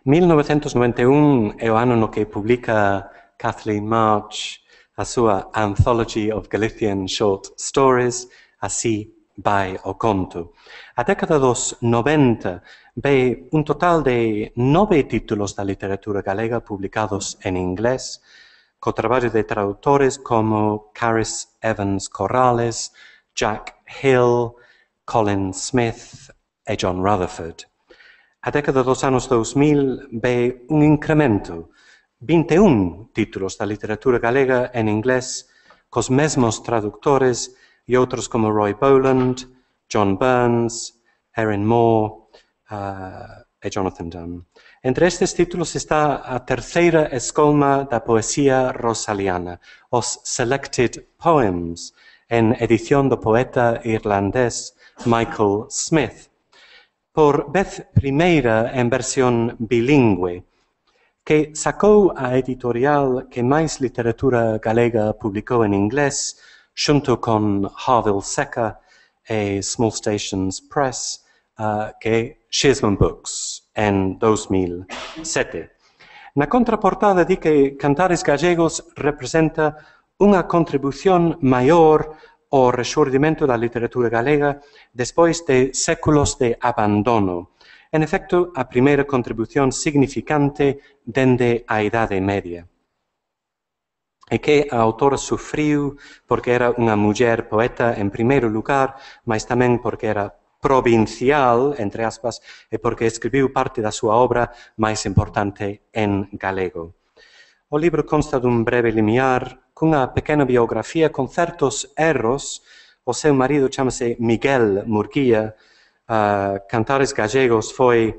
mil novecentos noventa e un é o ano no que publica Kathleen March a súa Anthology of Galician Short Stories, así vai o conto. A década dos noventa ve un total de nove títulos da literatura galega publicados en inglés, co traballo de tradutores como Caris Evans Corrales, Jack Hill, Colin Smith e John Rutherford. A década dos anos dous mil ve un incremento, vinte e un títulos da literatura galega en inglés, cos mesmos traductores e outros como Roy Boland, John Burns, Erin Moore uh, e Jonathan Dunn. Entre estes títulos está a terceira escolma da poesía rosaliana, os Selected Poems, en edición do poeta irlandés Michael Smith, por vez primeira en versión bilingüe, que sacou a editorial que máis literatura galega publicou en inglés, xunto con Harville Seca e Small Stations Press, uh, que é Shearsman Books, en dos mil sete. Na contraportada di que Cantares Gallegos representa unha contribución maior o rexurdimento da literatura galega despois de séculos de abandono. En efecto, a primeira contribución significante dende a Idade Media. E que a autora sufriu porque era unha muller poeta en primeiro lugar, mas tamén porque era provincial, entre aspas, e porque escribiu parte da súa obra máis importante en galego. O libro consta dun breve limiar cunha pequena biografía con certos erros. O seu marido chamase Miguel Murguía. Uh, Cantares Gallegos foi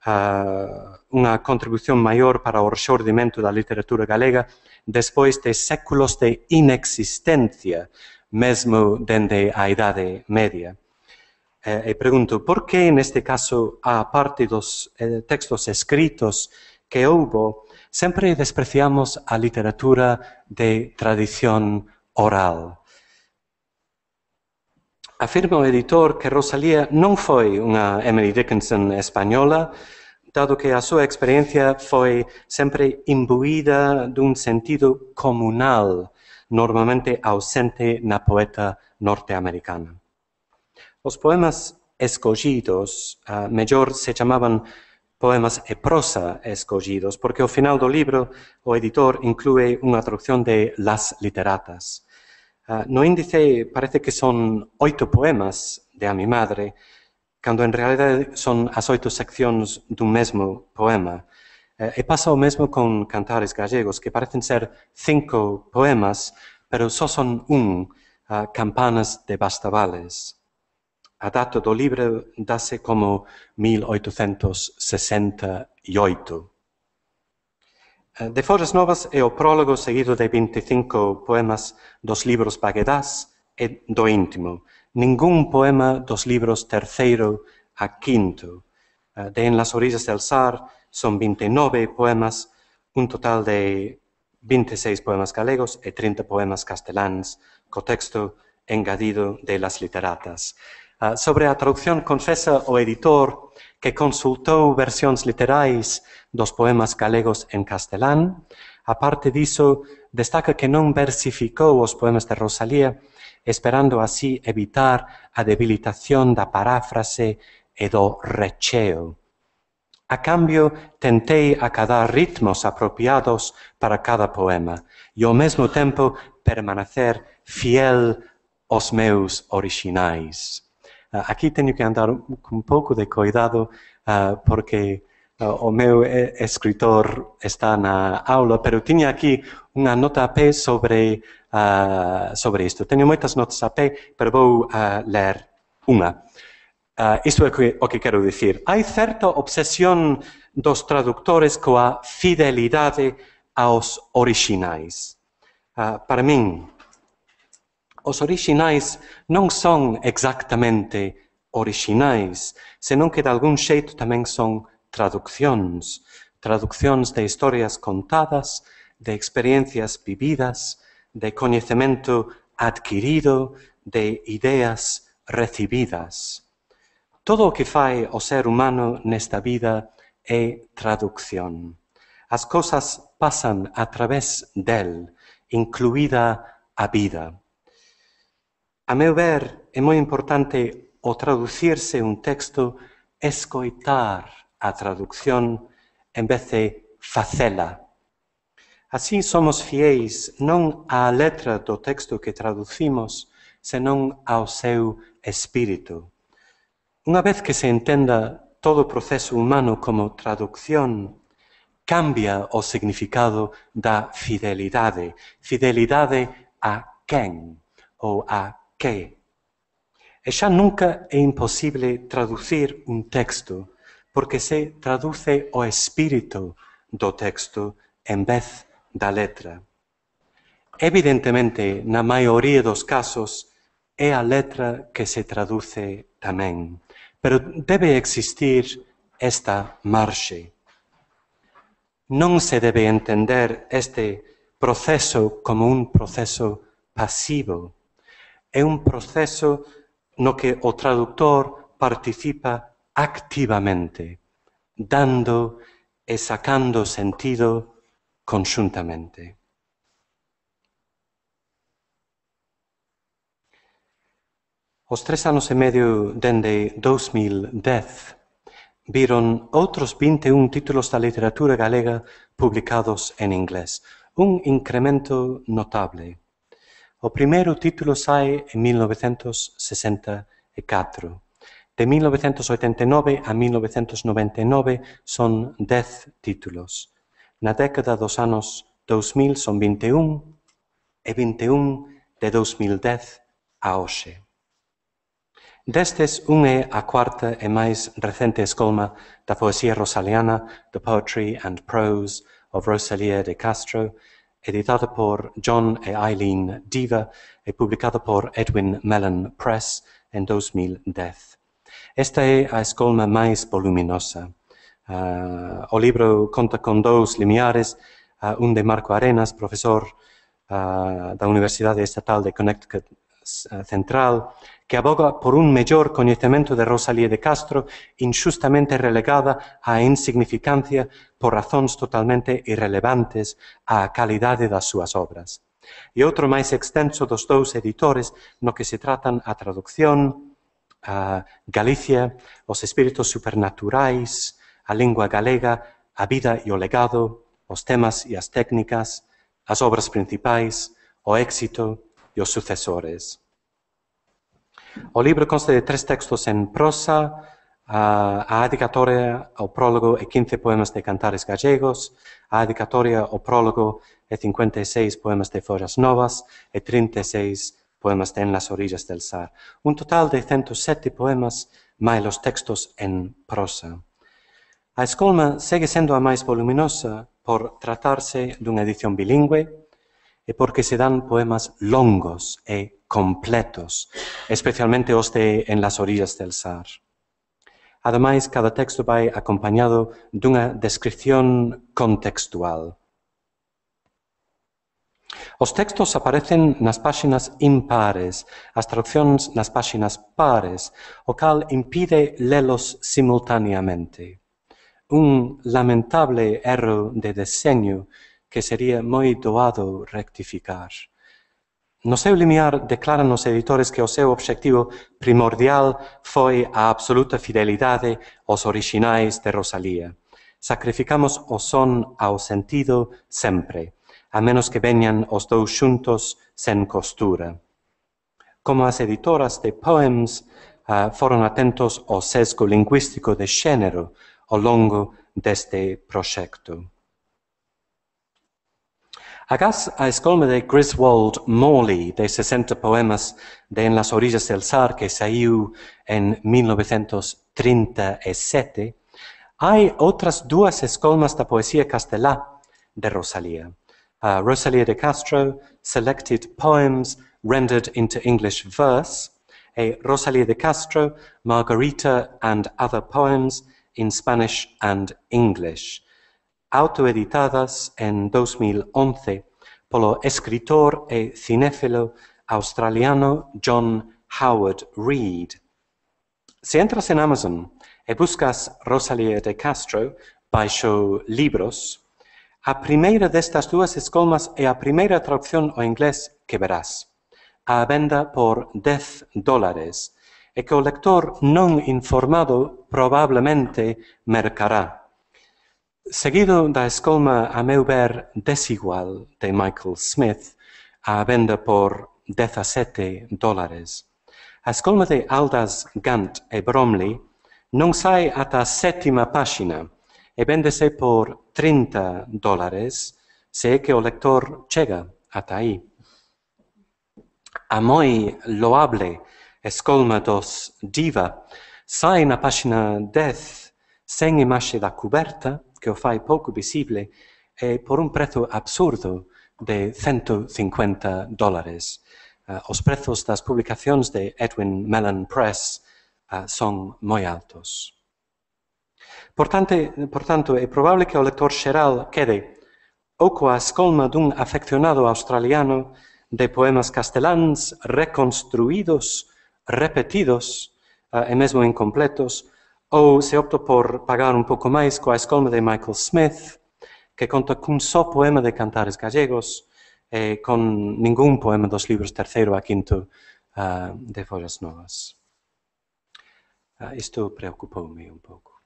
uh, unha contribución maior para o rexurdimento da literatura galega despois de séculos de inexistencia, mesmo dende a Idade Media. E, e pregunto, por que neste caso, a parte dos eh, textos escritos que houbo, sempre despreciamos a literatura de tradición oral? Afirma o editor que Rosalía non foi unha Emily Dickinson española, dado que a súa experiencia foi sempre imbuída dun sentido comunal, normalmente ausente na poeta norteamericana. Os poemas escollidos, uh, mellor se chamaban poemas e prosa escollidos, porque ao final do libro o editor inclúe unha traducción de Las Literatas. Uh, no índice parece que son oito poemas de A mi madre, cando en realidade son as oito seccións dun mesmo poema. Uh, e pasa o mesmo con Cantares Gallegos, que parecen ser cinco poemas, pero só son un, uh, Campanas de Bastavales. A data do libro dase como mil oitocentos sesenta e oito. De Follas Novas é o prólogo seguido de vinte e cinco poemas dos libros Baguedás e do Íntimo. Ningún poema dos libros terceiro a quinto. De En las orillas del Sar son vinte e nove poemas, un total de vinte e seis poemas galegos e trinta poemas casteláns, co texto engadido de las literatas. Uh, sobre a traducción, confesa o editor que consultou versións literais dos poemas galegos en castelán. A parte diso, destaca que non versificou os poemas de Rosalía, esperando así evitar a debilitación da paráfrase e do recheo. A cambio, tentei acadar ritmos apropiados para cada poema e ao mesmo tempo permanecer fiel aos meus orixinais. Uh, aquí teño que andar un, un pouco de cuidado uh, porque uh, o meu eh, escritor está na aula, pero tiña aquí unha nota a pé sobre, uh, sobre isto. Teño moitas notas a pé, pero vou uh, ler unha. Uh, isto é que, o que quero dicir. Hai certa obsesión dos traductores coa fidelidade aos orixinais. Uh, para min, os orixinais non son exactamente orixinais, senón que de algún xeito tamén son traduccións, traduccións de historias contadas, de experiencias vividas, de coñecemento adquirido, de ideas recibidas. Todo o que fai o ser humano nesta vida é traducción. As cousas pasan a través del, incluída a vida. A meu ver, é moi importante ao traducirse un texto escoitar a traducción en vez de facela. Así somos fiéis non á letra do texto que traducimos, senón ao seu espírito. Unha vez que se entenda todo o proceso humano como traducción, cambia o significado da fidelidade. Fidelidade a quen ou a que. E xa nunca é imposible traducir un texto, porque se traduce o espírito do texto en vez da letra. Evidentemente, na maioría dos casos, é a letra que se traduce tamén, pero debe existir esta marxe. Non se debe entender este proceso como un proceso pasivo. É un proceso no que o traductor participa activamente, dando e sacando sentido conxuntamente. Os tres anos e medio dende dous mil dez viron outros vinte e un títulos da literatura galega publicados en inglés, un incremento notable. O primeiro título sae en mil novecentos sesenta e catro. De mil novecentos oitenta e nove a mil novecentos noventa e nove son dez títulos. Na década dos anos dous mil son vinte e un e vinte e un de dous mil dez a hoxe. Destes, un é a cuarta e máis recente escolma da poesía rosaliana, The Poetry and Prose of Rosalía de Castro, editada por John e Eileen Diva e publicada por Edwin Mellon Press en dous mil dez. Esta é a escolma máis voluminosa. Uh, o libro conta con dous limiares, uh, un de Marco Arenas, profesor uh, da Universidade Estatal de Connecticut uh, Central, que aboga por un mellor coñecemento de Rosalía de Castro, inxustamente relegada á insignificancia por razóns totalmente irrelevantes á calidade das súas obras. E outro máis extenso dos dous editores, no que se tratan a traducción, a Galicia, os espíritos supernaturais, a lingua galega, a vida e o legado, os temas e as técnicas, as obras principais, o éxito, e os sucesores. O libro consta de tres textos en prosa, a, a dedicatoria, o prólogo e quince poemas de cantares gallegos, a dedicatoria, o prólogo e cincuenta e seis poemas de Follas Novas e trinta e seis poemas de En las orillas del Sar. Un total de ciento sete poemas máis os textos en prosa. A escolma segue sendo a máis voluminosa por tratarse dunha edición bilingüe e porque se dan poemas longos e completos, especialmente os de En las orillas del Sar. Ademais, cada texto vai acompañado dunha descripción contextual. Os textos aparecen nas páxinas impares, as traduccións nas páxinas pares, o cal impide lelos simultaneamente. Un lamentable erro de deseño que sería moi doado rectificar. No seu limiar declaran os editores que o seu obxectivo primordial foi a absoluta fidelidade aos orixinais de Rosalía. Sacrificamos o son ao sentido sempre, a menos que veñan os dous xuntos sen costura. Como as editoras de Poems uh, foron atentos ao sesgo lingüístico de xénero ao longo deste proxecto. Agás a escolma de Griswold Morley, de sesenta poemas de En las orillas del Sar, que saiu en mil novecentos trinta e sete, hai outras dúas escolmas da poesía castelá de Rosalía. Uh, Rosalía de Castro, Selected Poems Rendered into English Verse, e Rosalía de Castro, Margarita and Other Poems in Spanish and English, autoeditadas en dos mil once polo escritor e cinéfilo australiano John Howard Reed. Se entras en Amazon e buscas Rosalía de Castro baixo libros, a primeira destas dúas escolmas é a primeira traducción ao inglés que verás, a venda por dez dólares, e que o lector non informado probablemente mercará. Seguido da escolma, a meu ver, desigual de Michael Smith, a venda por dezasete dólares. A escolma de Aldous Gant e Bromley non sai ata a sétima páxina e véndese por trinta dólares se é que o lector chega ata aí. A moi loable escolma dos Diva sai na páxina dez sen imaxe da cuberta, que o fai pouco visible, e por un prezo absurdo de cento cincuenta dólares. Uh, os prezos das publicacións de Edwin Mellen Press uh, son moi altos. Por tanto, por tanto, é probable que o lector xeral quede ou coa escolma dun afeccionado australiano de poemas casteláns reconstruídos, repetidos uh, e mesmo incompletos, ou se opto por pagar un pouco máis coa escolma de Michael Smith, que conta cun só poema de cantares gallegos e con ningún poema dos libros terceiro a quinto uh, de Follas Novas. Uh, isto preocupoume un pouco.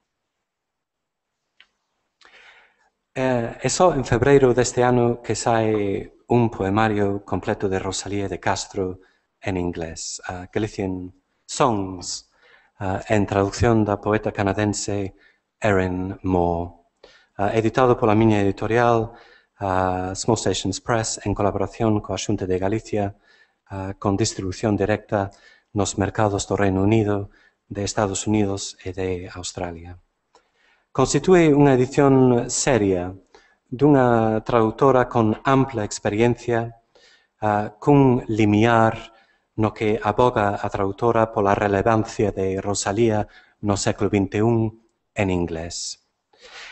Uh, é só en febreiro deste ano que sae un poemario completo de Rosalía de Castro en inglés, uh, Galician Songs, Uh, en traducción da poeta canadense Erin Moore, uh, editado pola miña editorial uh, Small Stations Press en colaboración coa Xunta de Galicia, uh, con distribución directa nos mercados do Reino Unido, de Estados Unidos e de Australia. Constitúe unha edición seria dunha traductora con ampla experiencia, uh, cun limiar no que aboga a tradutora pola relevancia de Rosalía no século vinte e un en inglés.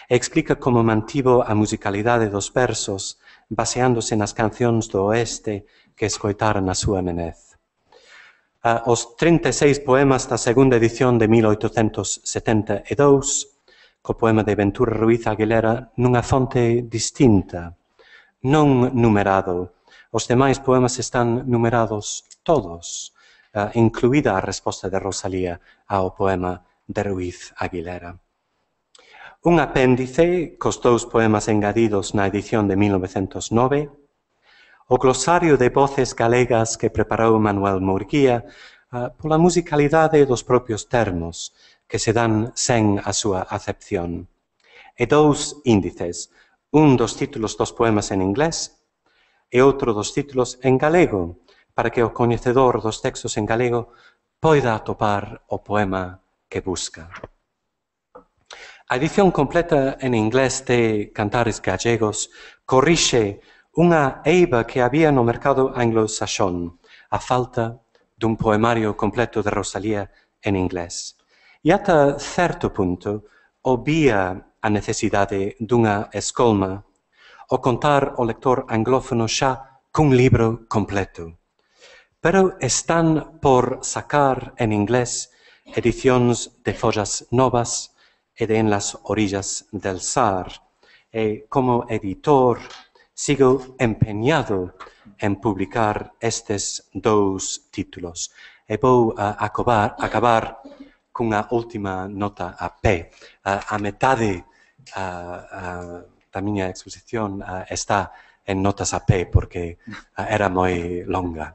Explica como mantivo a musicalidade dos versos baseándose nas cancións do oeste que escoitara na súa nenez. Uh, os trinta e seis poemas da segunda edición de mil oitocentos setenta e dous, co poema de Ventura Ruiz Aguilera nunha fonte distinta, non numerado. Os demais poemas están numerados todos, uh, incluída a resposta de Rosalía ao poema de Ruiz Aguilera. Un apéndice cos dous poemas engadidos na edición de mil novecentos nove, O glosario de voces galegas que preparou Manuel Murguía uh, pola musicalidade dos propios termos que se dan sen a súa acepción. E dous índices, un dos títulos dos poemas en inglés e outro dos títulos en galego, para que o coñecedor dos textos en galego poida atopar o poema que busca. A edición completa en inglés de Cantares Gallegos corrixe unha eiva que había no mercado anglosaxón, a falta dun poemario completo de Rosalía en inglés. E ata certo punto obvia a necesidade dunha escolma o contar o lector anglófono xa cun libro completo. Pero están por sacar en inglés edicións de follas novas e de En las orillas del Sar. E como editor sigo empeñado en publicar estes dous títulos. E vou a acabar, acabar cunha última nota a pé. A, a metade a, a, da miña exposición a, está en notas a pé, porque a, era moi longa.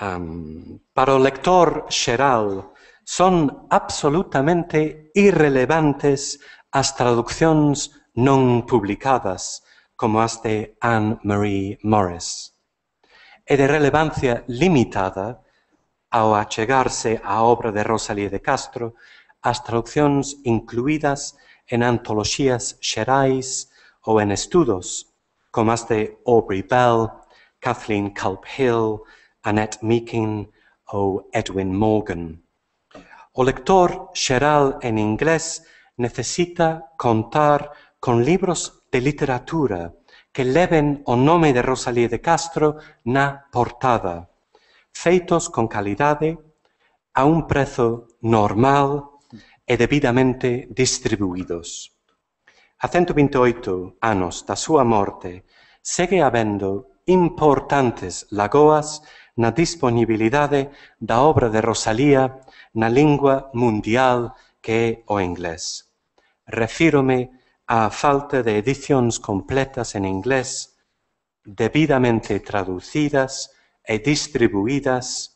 Um, para o lector xeral, son absolutamente irrelevantes as traduccións non publicadas, como as de Anne-Marie Morris, e de relevancia limitada ao achegarse á obra de Rosalía de Castro as traduccións incluídas en antoloxías xerais ou en estudos, como as de Aubrey Bell, Kathleen Culp-Hill, Annette Meekin ou Edwin Morgan. O lector xeral en inglés necesita contar con libros de literatura que leven o nome de Rosalía de Castro na portada, feitos con calidade, a un prezo normal e debidamente distribuídos. A ciento vinte e oito anos da súa morte, segue habendo importantes lagoas na disponibilidade da obra de Rosalía na lingua mundial que é o inglés. Refírome á falta de edicións completas en inglés, debidamente traducidas e distribuídas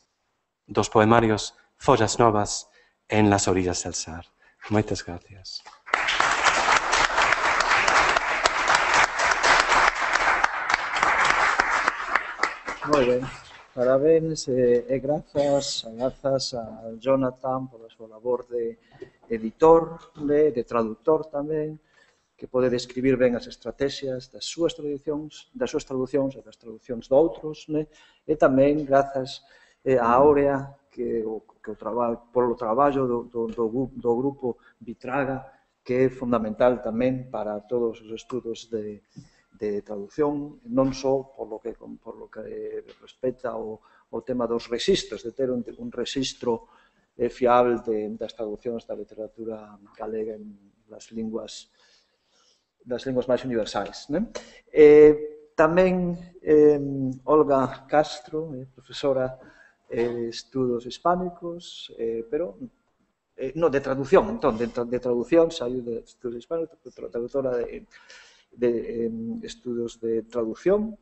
dos poemarios Follas Novas en las orillas del Sar. Moitas gracias. Moi ben, parabéns e, e grazas, grazas a Jonathan pola súa labor de editor, de, de traductor tamén, que pode describir ben as estrategias das súas traduccións, das súas traduccións e das traduccións de outros, né? E tamén grazas eh, a Áurea, que o, que o traba, polo traballo do, do, do, do grupo Vitraga, que é fundamental tamén para todos os estudos de, de traducción, non só por lo que, por lo que respecta ao, ao tema dos registros, de ter un, un registro eh, fiable de, das traduccións da literatura galega en las linguas das linguas máis universais. Né? Eh, tamén eh, Olga Castro, eh, profesora de eh, estudos hispánicos, eh, pero eh, no, de traducción, entón, de, de traducción, saiu de estudos hispánicos, traductora de, de eh, estudos de traducción,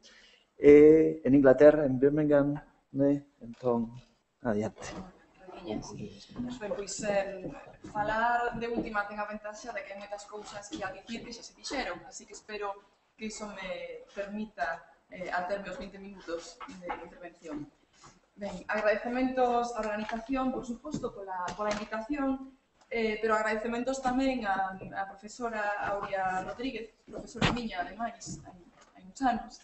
eh, en Inglaterra, en Birmingham, né? Entón, adiante. Ben, pois, eh, falar de última ten a ventaxa de que hai moitas cousas que a dicir que xa se dixeron, así que espero que iso me permita eh, aterme os veinte minutos de intervención. Ben, agradecementos á organización, por suposto, pola, pola invitación, eh, pero agradecementos tamén á, á profesora Aurea Rodríguez, profesora miña, ademais, hai, hai uns anos,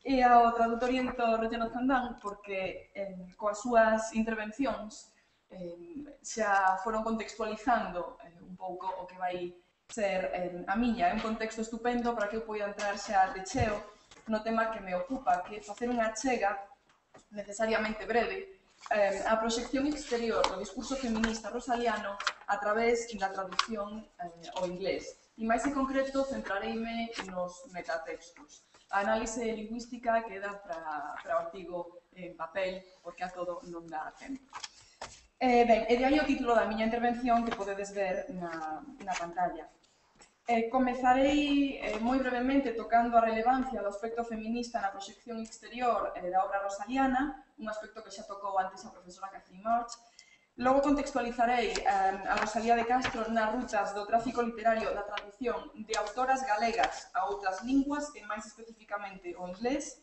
e ao traductor e editor Jonathan Dunn, porque eh, coas súas intervencións Eh, xa foron contextualizando eh, un pouco o que vai ser eh, a miña. É un contexto estupendo para que eu poida entrar xa de cheo no tema que me ocupa, que é facer unha achega necesariamente breve eh, a proxección exterior do discurso feminista rosaliano a través da traducción eh, ao inglés. E máis en concreto centrareime nos metatextos. A análise lingüística queda para, para o artigo en papel, porque a todo non dá tempo. Eh, ben, e de aí o título da miña intervención que podedes ver na, na pantalla. Eh, comezarei eh, moi brevemente tocando a relevancia do aspecto feminista na proxección exterior eh, da obra rosaliana, un aspecto que xa tocou antes a profesora Catherine March. Logo contextualizarei eh, a Rosalía de Castro nas rutas do tráfico literario da traducción de autoras galegas a outras linguas, e máis especificamente o inglés,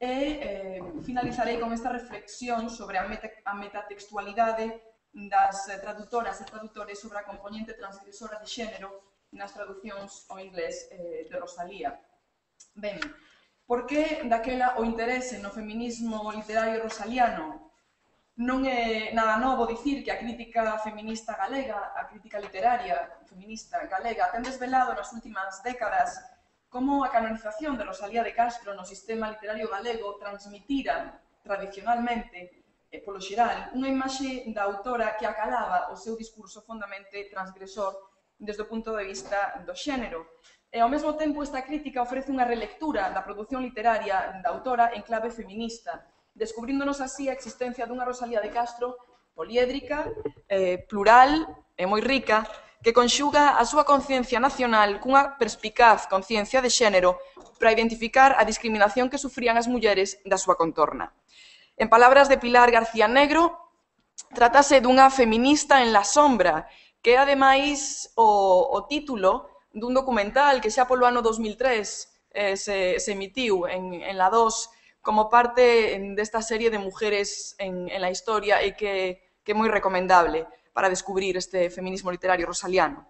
e eh, finalizarei con esta reflexión sobre a, meta, a metatextualidade das eh, traductoras e tradutores sobre a componente transgresora de xénero nas traducións ao inglés eh, de Rosalía. Ben, por que daquela o interese no feminismo literario rosaliano? Non é nada novo dicir que a crítica feminista galega, a crítica literaria feminista galega, ten desvelado nas últimas décadas como a canonización de Rosalía de Castro no sistema literario galego transmitira tradicionalmente, e polo xeral, unha imaxe da autora que acalaba o seu discurso fondamente transgresor desde o punto de vista do xénero. E, ao mesmo tempo, esta crítica ofrece unha relectura da produción literaria da autora en clave feminista, descubríndonos así a existencia dunha Rosalía de Castro poliédrica, eh, plural e moi rica, que conxuga a súa conciencia nacional cunha perspicaz conciencia de xénero para identificar a discriminación que sufrían as mulleres da súa contorna. En palabras de Pilar García Negro, trátase dunha feminista en la sombra, que é, ademais, o, o título dun documental que xa polo ano dos mil tres eh, se, se emitiu en, en la dos como parte desta serie de mujeres en, en la historia e que, que é moi recomendable para descubrir este feminismo literario rosaliano.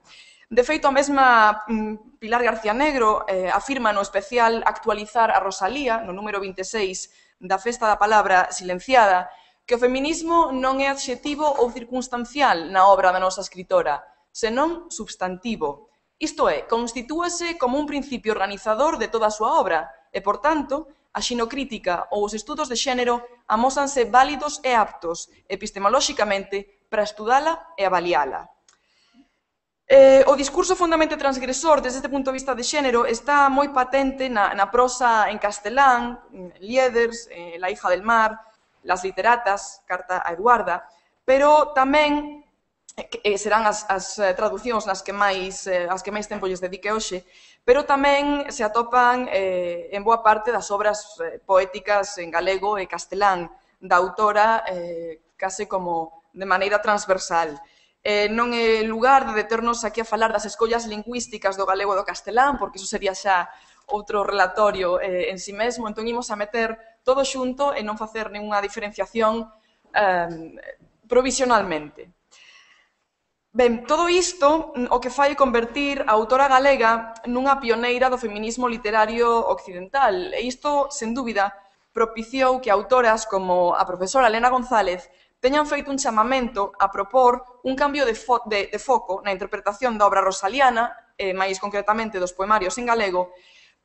De feito, a mesma mm, Pilar García Negro eh, afirma no especial Actualizar a Rosalía, no número vinte e seis da Festa da Palabra Silenciada, que o feminismo non é adxetivo ou circunstancial na obra da nosa escritora, senón substantivo. Isto é, constitúase como un principio organizador de toda a súa obra e, por tanto, a xinocrítica ou os estudos de xénero amósanse válidos e aptos epistemolóxicamente para estudala e avaliala. Eh, o discurso fundamente transgresor desde este punto de vista de xénero está moi patente na, na prosa en castelán, Lieders, eh, La hija del mar, Las literatas, Carta a Eduarda, pero tamén eh, serán as, as traducións nas que máis, eh, as que máis tempo lles dedique hoxe, pero tamén se atopan eh, en boa parte das obras eh, poéticas en galego e castelán da autora eh, case como de maneira transversal. Eh, non é lugar de deternos aquí a falar das escollas lingüísticas do galego e do castelán, porque iso sería xa outro relatorio eh, en si mesmo, entón imos a meter todo xunto e non facer ninguna diferenciación eh, provisionalmente. Ben, todo isto o que fai convertir a autora galega nunha pioneira do feminismo literario occidental, e isto, sen dúbida, propiciou que autoras como a profesora Elena González teñan feito un chamamento a propor un cambio de, fo de, de foco na interpretación da obra rosaliana, e máis concretamente dos poemarios en galego,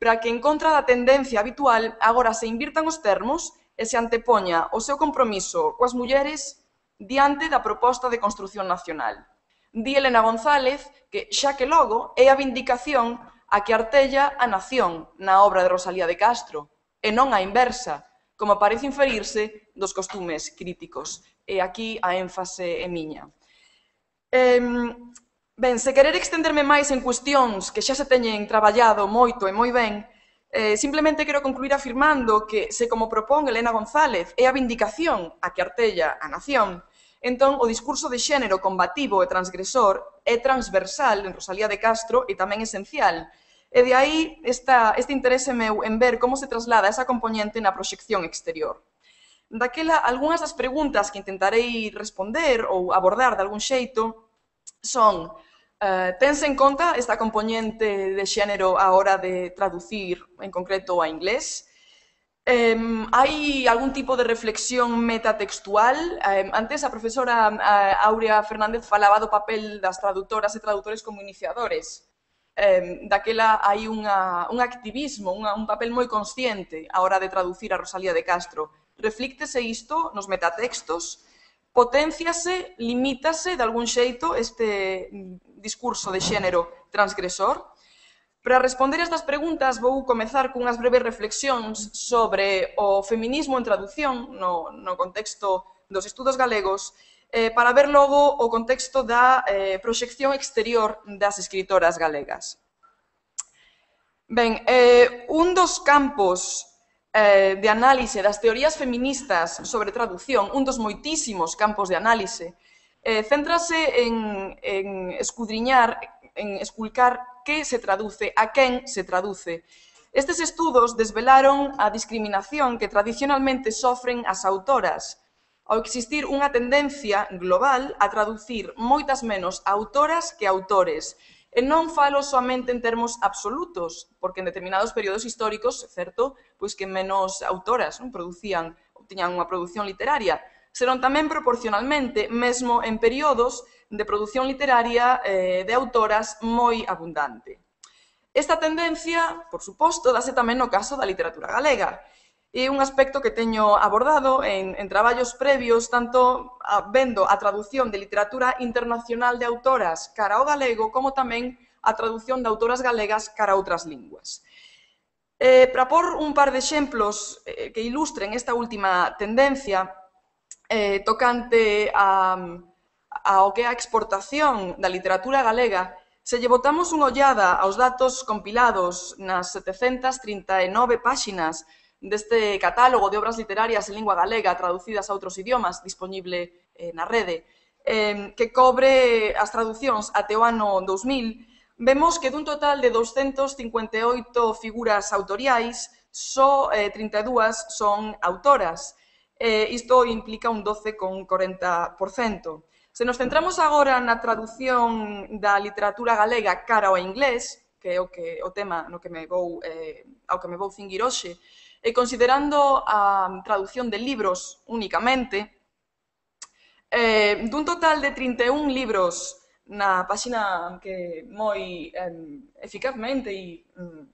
para que, en contra da tendencia habitual, agora se invirtan os termos e se antepoña o seu compromiso coas mulleres diante da proposta de construción nacional. Di Elena González que, xa que logo, é a vindicación a que artella a nación na obra de Rosalía de Castro, e non a inversa, como parece inferirse dos costumes críticos. E aquí a énfase é miña. Eh, Ben, se querer extenderme máis en cuestións que xa se teñen traballado moito e moi ben, eh, simplemente quero concluir afirmando que, se como propón Elena González é a vindicación a que artella a nación, entón o discurso de xénero combativo e transgresor é transversal en Rosalía de Castro e tamén esencial. E de aí esta, este interese meu en ver como se traslada esa componente na proxección exterior. Daquela, algunhas das preguntas que intentarei responder ou abordar de algún xeito son, uh, tense en conta esta componente de xénero a hora de traducir, en concreto, a inglés? Um, hai algún tipo de reflexión metatextual? Um, antes a profesora uh, Aurea Fernández falaba do papel das traductoras e tradutores como iniciadores. Um, daquela hai unha, un activismo, unha, un papel moi consciente a hora de traducir a Rosalía de Castro. Reflíctese isto nos metatextos? Potenciase, limítase de algún xeito este discurso de xénero transgresor? Para responder a estas preguntas vou comezar cunhas breves reflexións sobre o feminismo en traducción no, no contexto dos estudos galegos, eh, para ver logo o contexto da eh, proxección exterior das escritoras galegas. Ben, eh, un dos campos eh, de análise das teorías feministas sobre traducción, un dos moitísimos campos de análise, eh, céntrase en, en escudriñar, en esculcar que se traduce, a quen se traduce. Estes estudos desvelaron a discriminación que tradicionalmente sofren as autoras, ao existir unha tendencia global a traducir moitas menos autoras que autores. E non falo soamente en termos absolutos, porque en determinados períodos históricos, certo, pois que menos autoras non producían, ou tiñan unha produción literaria, senón tamén proporcionalmente, mesmo en períodos de produción literaria eh, de autoras moi abundante. Esta tendencia, por suposto, dase tamén no caso da literatura galega. É un aspecto que teño abordado en, en traballos previos, tanto a, vendo a traducción de literatura internacional de autoras cara ao galego, como tamén a traducción de autoras galegas cara a outras linguas. Eh, para por un par de exemplos eh, que ilustren esta última tendencia, eh, tocante a, ao que é a exportación da literatura galega, se lle botamos unha ollada aos datos compilados nas setecentas trinta e nove páxinas deste catálogo de obras literarias en lingua galega traducidas a outros idiomas disponible eh, na rede, eh, que cobre as traducións até o ano dous mil, vemos que dun total de doscientas cincuenta e oito figuras autoriais, só eh, trinta e dúas son autoras. Eh, isto implica un doce coma corenta por cento. Se nos centramos agora na traducción da literatura galega cara ao inglés, que é o, que, o tema no que me vou, eh, ao que me vou cinguir hoxe, e considerando a traducción de libros únicamente, eh, dun total de trinta e un libros na páxina que moi eh, eficazmente e mm,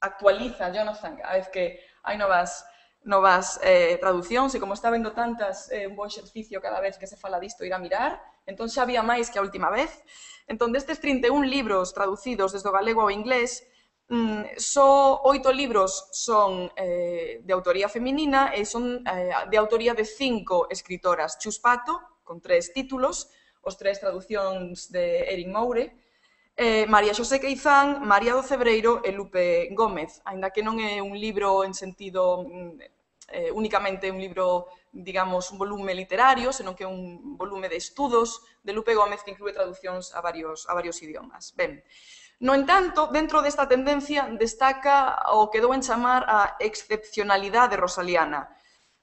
actualiza Jonathan cada vez que hai novas, novas eh, traducións, e como está vendo tantas, é eh, un bo exercicio cada vez que se fala disto ir a mirar, entón xa había máis que a última vez. Entón, destes trinta e un libros traducidos desde o galego ao inglés, Mm, só oito libros son eh, de autoría feminina e son eh, de autoría de cinco escritoras. Chus Pato, con tres títulos, os tres traducións de Erin Moure, eh, María Xosé Queizán, María do Cebreiro e Lupe Gómez, aínda que non é un libro en sentido eh, únicamente un libro, digamos, un volume literario, senón que é un volume de estudos de Lupe Gómez que inclúe traducións a varios, a varios idiomas. Ben, no entanto, dentro desta tendencia destaca o que dou en chamar a excepcionalidade rosaliana,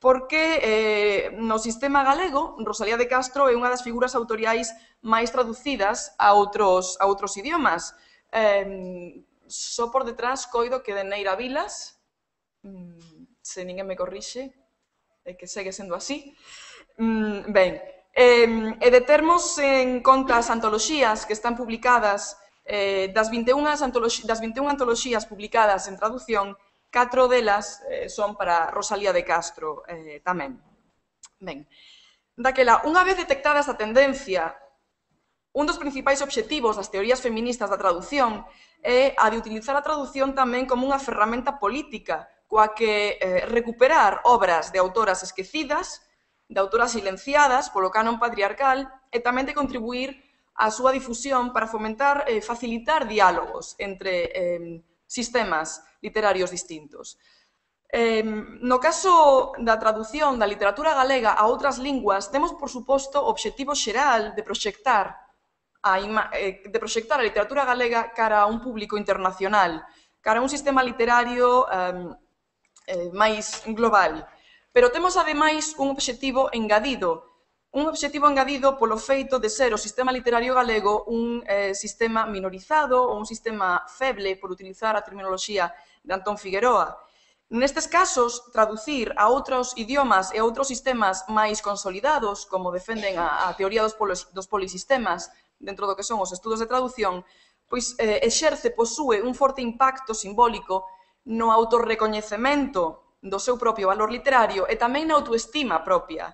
porque eh, no sistema galego, Rosalía de Castro é unha das figuras autoriais máis traducidas a outros, a outros idiomas. Eh, só por detrás coido que de Neira Vilas, se ninguén me corrixe, é que segue sendo así. Ben, e de termos en conta as antoloxías que están publicadas, Eh, das, vinte e un das vinte e un antoloxías publicadas en traducción, catro delas eh, son para Rosalía de Castro eh, tamén. Ben, daquela, unha vez detectada esta tendencia, un dos principais obxectivos das teorías feministas da traducción é a de utilizar a traducción tamén como unha ferramenta política, coa que eh, recuperar obras de autoras esquecidas, de autoras silenciadas polo canon patriarcal, e tamén de contribuir a súa difusión para fomentar e eh, facilitar diálogos entre eh, sistemas literarios distintos. Eh, no caso da traducción da literatura galega a outras linguas, temos, por suposto, o obxectivo xeral de proxectar a, eh, de proxectar a literatura galega cara a un público internacional, cara a un sistema literario eh, eh, máis global. Pero temos, ademais, un obxectivo engadido, un obxectivo engadido polo feito de ser o sistema literario galego un eh, sistema minorizado ou un sistema feble, por utilizar a terminoloxía de Antón Figueroa. Nestes casos, traducir a outros idiomas e a outros sistemas máis consolidados, como defenden a, a teoría dos, polos, dos polisistemas dentro do que son os estudos de traducción, pois eh, exerce, posúe un forte impacto simbólico no autorrecoñecemento do seu propio valor literario e tamén na autoestima propia,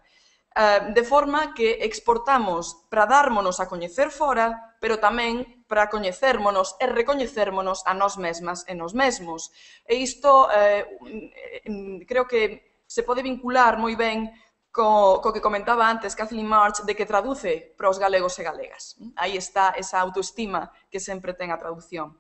de forma que exportamos para dármonos a coñecer fora, pero tamén para coñecérmonos e recoñecérmonos a nós mesmas e nós mesmos. E isto eh, creo que se pode vincular moi ben co, co que comentaba antes Kathleen March, de que traduce para os galegos e galegas. Aí está esa autoestima que sempre ten a traducción.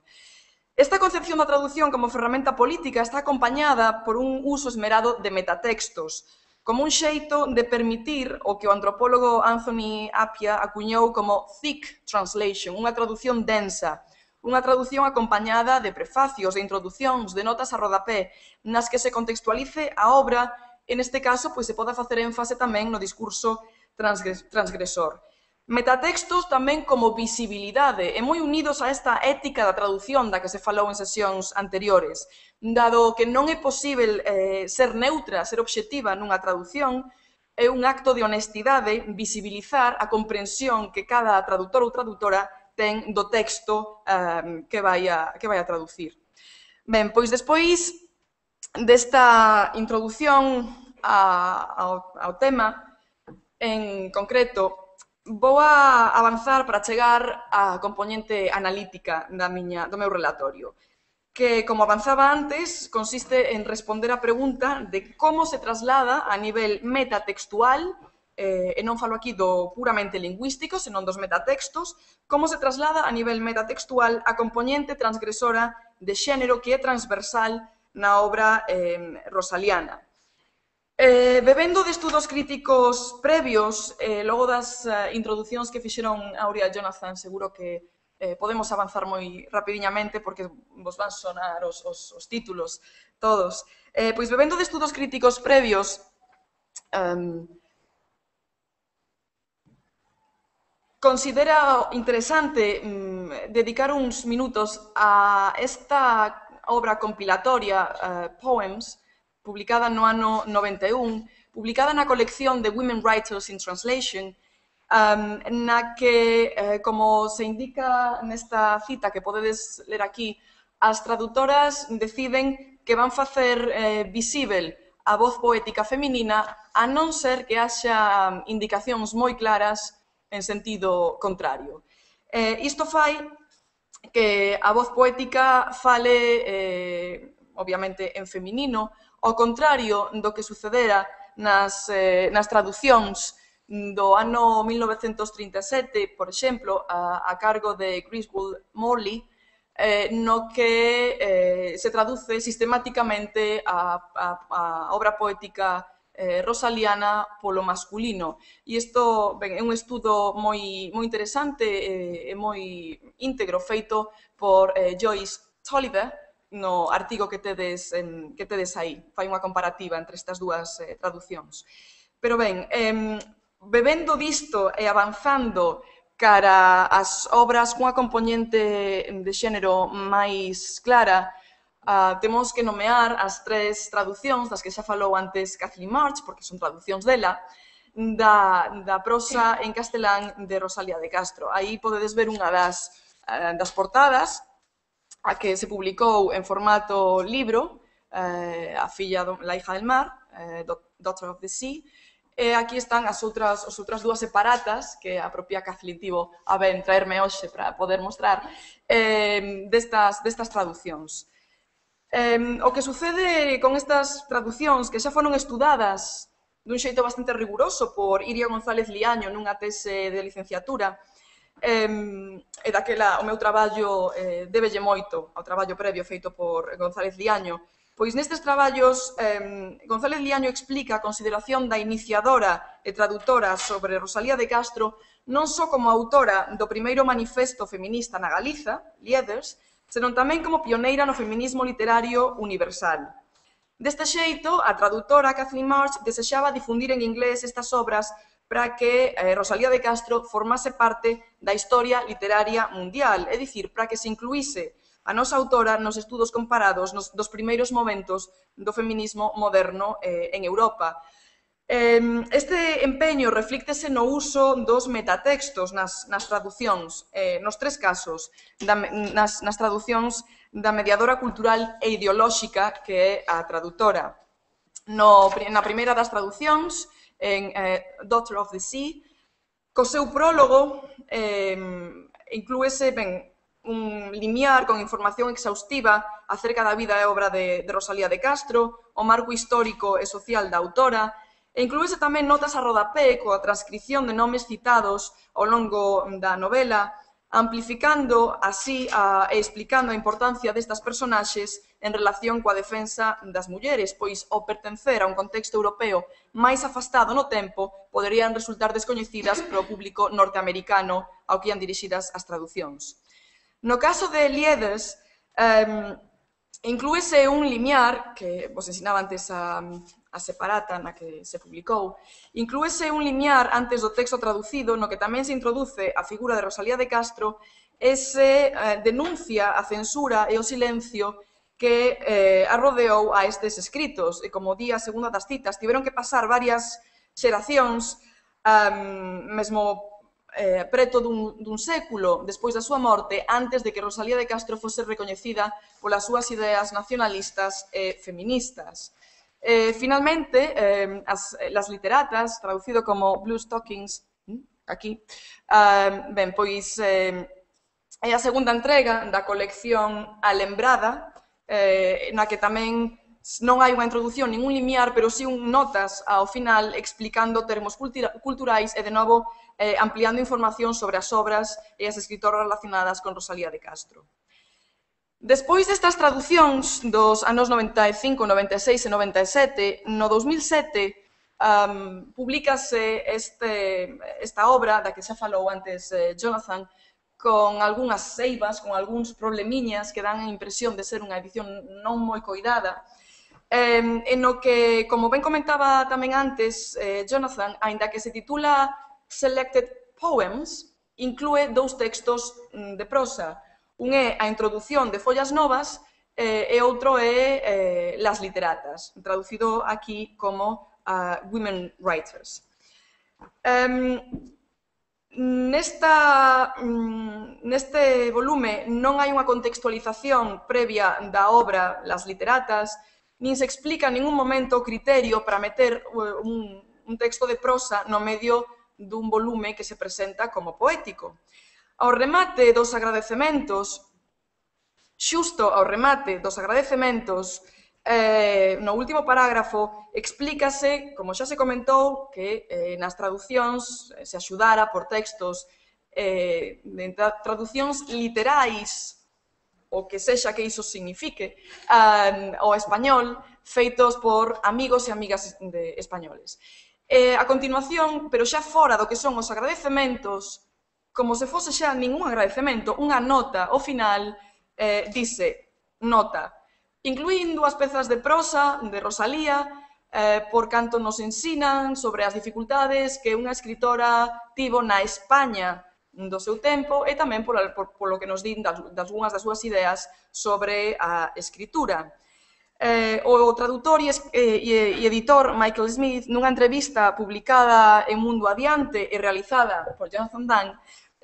Esta concepción da traducción como ferramenta política está acompañada por un uso esmerado de metatextos, como un xeito de permitir o que o antropólogo Anthony Appiah acuñou como thick translation, unha traducción densa, unha traducción acompañada de prefacios, de introducións, de notas a rodapé, nas que se contextualice a obra, en este caso, pois se poda facer énfase tamén no discurso transgresor. Metatextos tamén como visibilidade e moi unidos a esta ética da traducción da que se falou en sesións anteriores, dado que non é posível eh, ser neutra, ser obxectiva nunha traducción, é un acto de honestidade visibilizar a comprensión que cada traductor ou traductora ten do texto eh, que, vai a, que vai a traducir. Ben, pois despois desta introdución a, ao, ao tema, en concreto, vou a avanzar para chegar á componente analítica da miña, do meu relatorio, que, como avanzaba antes, consiste en responder a pregunta de como se traslada a nivel metatextual, eh, e non falo aquí do puramente lingüístico, senón dos metatextos, como se traslada a nivel metatextual a componente transgresora de xénero que é transversal na obra eh, rosaliana. Eh, bebendo de estudos críticos previos, eh, logo das eh, introducións que fixeron Aurea e Jonathan, seguro que eh, podemos avanzar moi rapidiñamente porque vos van sonar os, os, os títulos todos. Eh, pois bebendo de estudos críticos previos, um, considera interesante um, dedicar uns minutos a esta obra compilatoria, uh, Poems, publicada no ano noventa e un, publicada na colección de Women Writers in Translation, um, na que, eh, como se indica nesta cita que podedes ler aquí, as traductoras deciden que van facer eh, visível a voz poética feminina a non ser que haxa indicacións moi claras en sentido contrario. Eh, isto fai que a voz poética fale, eh, obviamente, en feminino, ao contrario do que sucedera nas, eh, nas traducións do ano mil novecentos trinta e sete, por exemplo, a, a cargo de Griswold Morley, eh, no que eh, se traduce sistemáticamente a, a, a obra poética eh, rosaliana polo masculino. E isto ben, é un estudo moi, moi interesante e eh, moi íntegro feito por eh, Joyce Tolliver, no artigo que tedes, en, que tedes aí. Fai unha comparativa entre estas dúas eh, traducións. Pero ben, eh, bebendo disto e avanzando cara ás obras cunha componente de xénero máis clara, uh, temos que nomear as tres traducións das que xa falou antes Kathleen March, porque son traducións dela, da, da prosa en castelán de Rosalía de Castro. Aí podedes ver unha das, uh, das portadas, a que se publicou en formato libro, eh, a filla, do, la hija del mar, eh, Daughter of the Sea, e aquí están as outras, as outras dúas separatas que a propia Kathleen tivo a ben traerme hoxe para poder mostrar eh, destas, destas traducións. Eh, o que sucede con estas traducións que xa foron estudadas dun xeito bastante riguroso por Iria González Liaño nunha tese de licenciatura, Eh, e daquela o meu traballo eh, débelle moito ao traballo previo feito por González Liaño. Pois nestes traballos, eh, González Liaño explica a consideración da iniciadora e traductora sobre Rosalía de Castro non só como autora do primeiro manifesto feminista na Galiza, Lieders, senón tamén como pioneira no feminismo literario universal. Deste xeito, a traductora Kathleen March desexaba difundir en inglés estas obras para que eh, Rosalía de Castro formase parte da historia literaria mundial, é dicir, para que se incluíse a nosa autora nos estudos comparados nos, dos primeiros momentos do feminismo moderno eh, en Europa. Eh, este empeño reflíctese no uso dos metatextos nas, nas traducións, eh, nos tres casos, da, nas, nas traducións da mediadora cultural e ideolóxica que é a traductora. No, na primeira das traducións, en eh, Daughter of the Sea, co seu prólogo eh, inclúese ben, un limiar con información exhaustiva acerca da vida e obra de, de Rosalía de Castro, o marco histórico e social da autora, e inclúese tamén notas a rodapé coa transcripción de nomes citados ao longo da novela, amplificando así a, e explicando a importancia destas personaxes en relación coa defensa das mulleres, pois ao pertencer a un contexto europeo máis afastado no tempo, poderían resultar descoñecidas para o público norteamericano ao que ian dirixidas as traducións. No caso de Lieders, eh, inclúese un limiar, que vos ensinaba antes a, a separata na que se publicou, inclúese un limiar antes do texto traducido no que tamén se introduce a figura de Rosalía de Castro e se eh, denuncia a censura e o silencio que eh, arrodeou a estes escritos. E como di a segunda das citas, tiveron que pasar varias xeracións, um, mesmo eh, preto dun, dun século despois da súa morte, antes de que Rosalía de Castro fose recoñecida polas súas ideas nacionalistas e feministas. Eh, finalmente, eh, as, las literatas, traducido como Blue Stockings, aquí, eh, ben, pois eh, é a segunda entrega da colección Alembrada, eh, na que tamén non hai unha introducción, ningún limiar, pero sí un notas ao final explicando termos cultura, culturais e, de novo, eh, ampliando información sobre as obras e as escritoras relacionadas con Rosalía de Castro. Despois destas traducións dos anos noventa e cinco, noventa e seis e noventa e sete, no dos mil sete um, publicase este, esta obra da que xa falou antes eh, Jonathan, con algunhas seivas, con algúns problemiñas que dan a impresión de ser unha edición non moi coidada, eh, en no que, como ben comentaba tamén antes eh, Jonathan, aínda que se titula Selected Poems, inclúe dous textos de prosa. Un é a introdución de Follas Novas eh, e outro é eh, Las Literatas, traducido aquí como uh, Women Writers. Um, nesta, um, neste volume non hai unha contextualización previa da obra Las Literatas, nin se explica en ningún momento o criterio para meter un, un texto de prosa no medio dun volume que se presenta como poético. Ao remate dos agradecementos, xusto ao remate dos agradecementos, eh, no último parágrafo, explícase, como xa se comentou, que eh, nas traducións se axudara por textos eh, de tra traducións literais, o que sexa que iso signifique, um, ao español, feitos por amigos e amigas de españoles. Eh, a continuación, pero xa fora do que son os agradecementos, como se fose xa ningún agradecemento, unha nota ao final eh, dice, nota, incluín dúas pezas de prosa de Rosalía eh, por canto nos ensinan sobre as dificultades que unha escritora tivo na España do seu tempo e tamén por, por, por lo que nos din das, das unhas das súas ideas sobre a escritura. Eh, o tradutor e, e, e editor Michael Smith, nunha entrevista publicada en Mundo Adiante e realizada por Jonathan Dunn,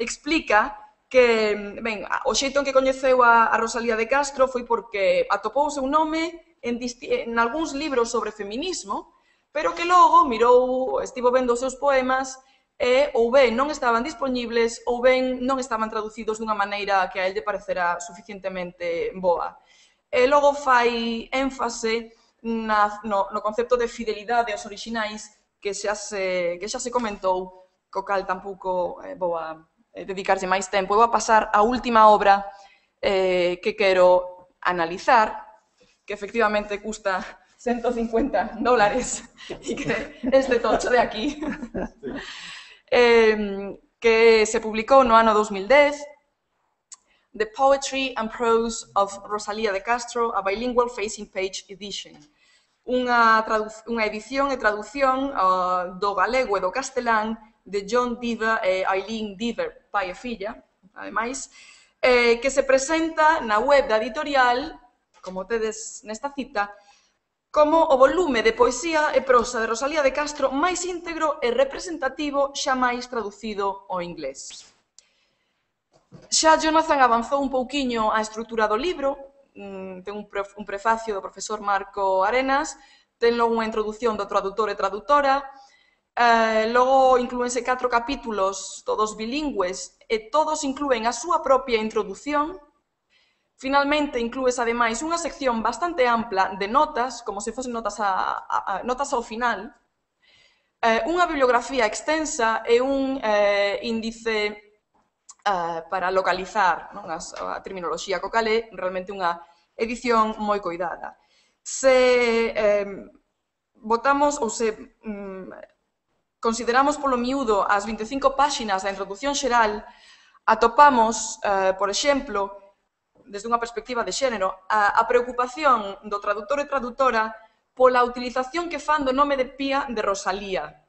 explica que, ben, o xeito en que coñeceu a, a Rosalía de Castro foi porque atopou o seu nome en, en algúns libros sobre feminismo, pero que logo mirou, estivo vendo os seus poemas e ou ben non estaban dispoñibles ou ben non estaban traducidos dunha maneira que a él lle parecera suficientemente boa. E logo fai énfase na, no, no concepto de fidelidade aos orixinais que xa se, que xa se comentou, co cal tampouco eh, vou a eh, dedicarlle máis tempo. Eu vou a pasar a última obra eh, que quero analizar, que efectivamente custa ciento cincuenta dólares e que este tocho de aquí, eh, que se publicou no ano dos mil dez, The Poetry and Prose of Rosalía de Castro, a Bilingual Facing Page Edition. Unha, unha edición e traducción uh, do galego e do castelán de John Diva e Eileen Diver, pai e filla, ademais, eh, que se presenta na web da editorial, como tedes nesta cita, como o volume de poesía e prosa de Rosalía de Castro máis íntegro e representativo xa máis traducido ao inglés. Xa Jonathan avanzou un pouquiño a estrutura do libro, ten un, pre, un prefacio do profesor Marco Arenas, ten logo unha introdución do traductor e traductora, eh, logo inclúense catro capítulos, todos bilingües, e todos inclúen a súa propia introdución. Finalmente, inclúes ademais unha sección bastante ampla de notas, como se fosen notas, a, a, a, notas ao final, eh, unha bibliografía extensa e un eh, índice uh, para localizar non, as, a terminoloxía co cal é realmente unha edición moi coidada. Se eh, votamos ou se mm, consideramos polo miúdo as vinte e cinco páxinas da introdución xeral, atopamos, eh, por exemplo, desde unha perspectiva de xénero, a, a preocupación do traductor e traductora pola utilización que fan do nome de Pía de Rosalía.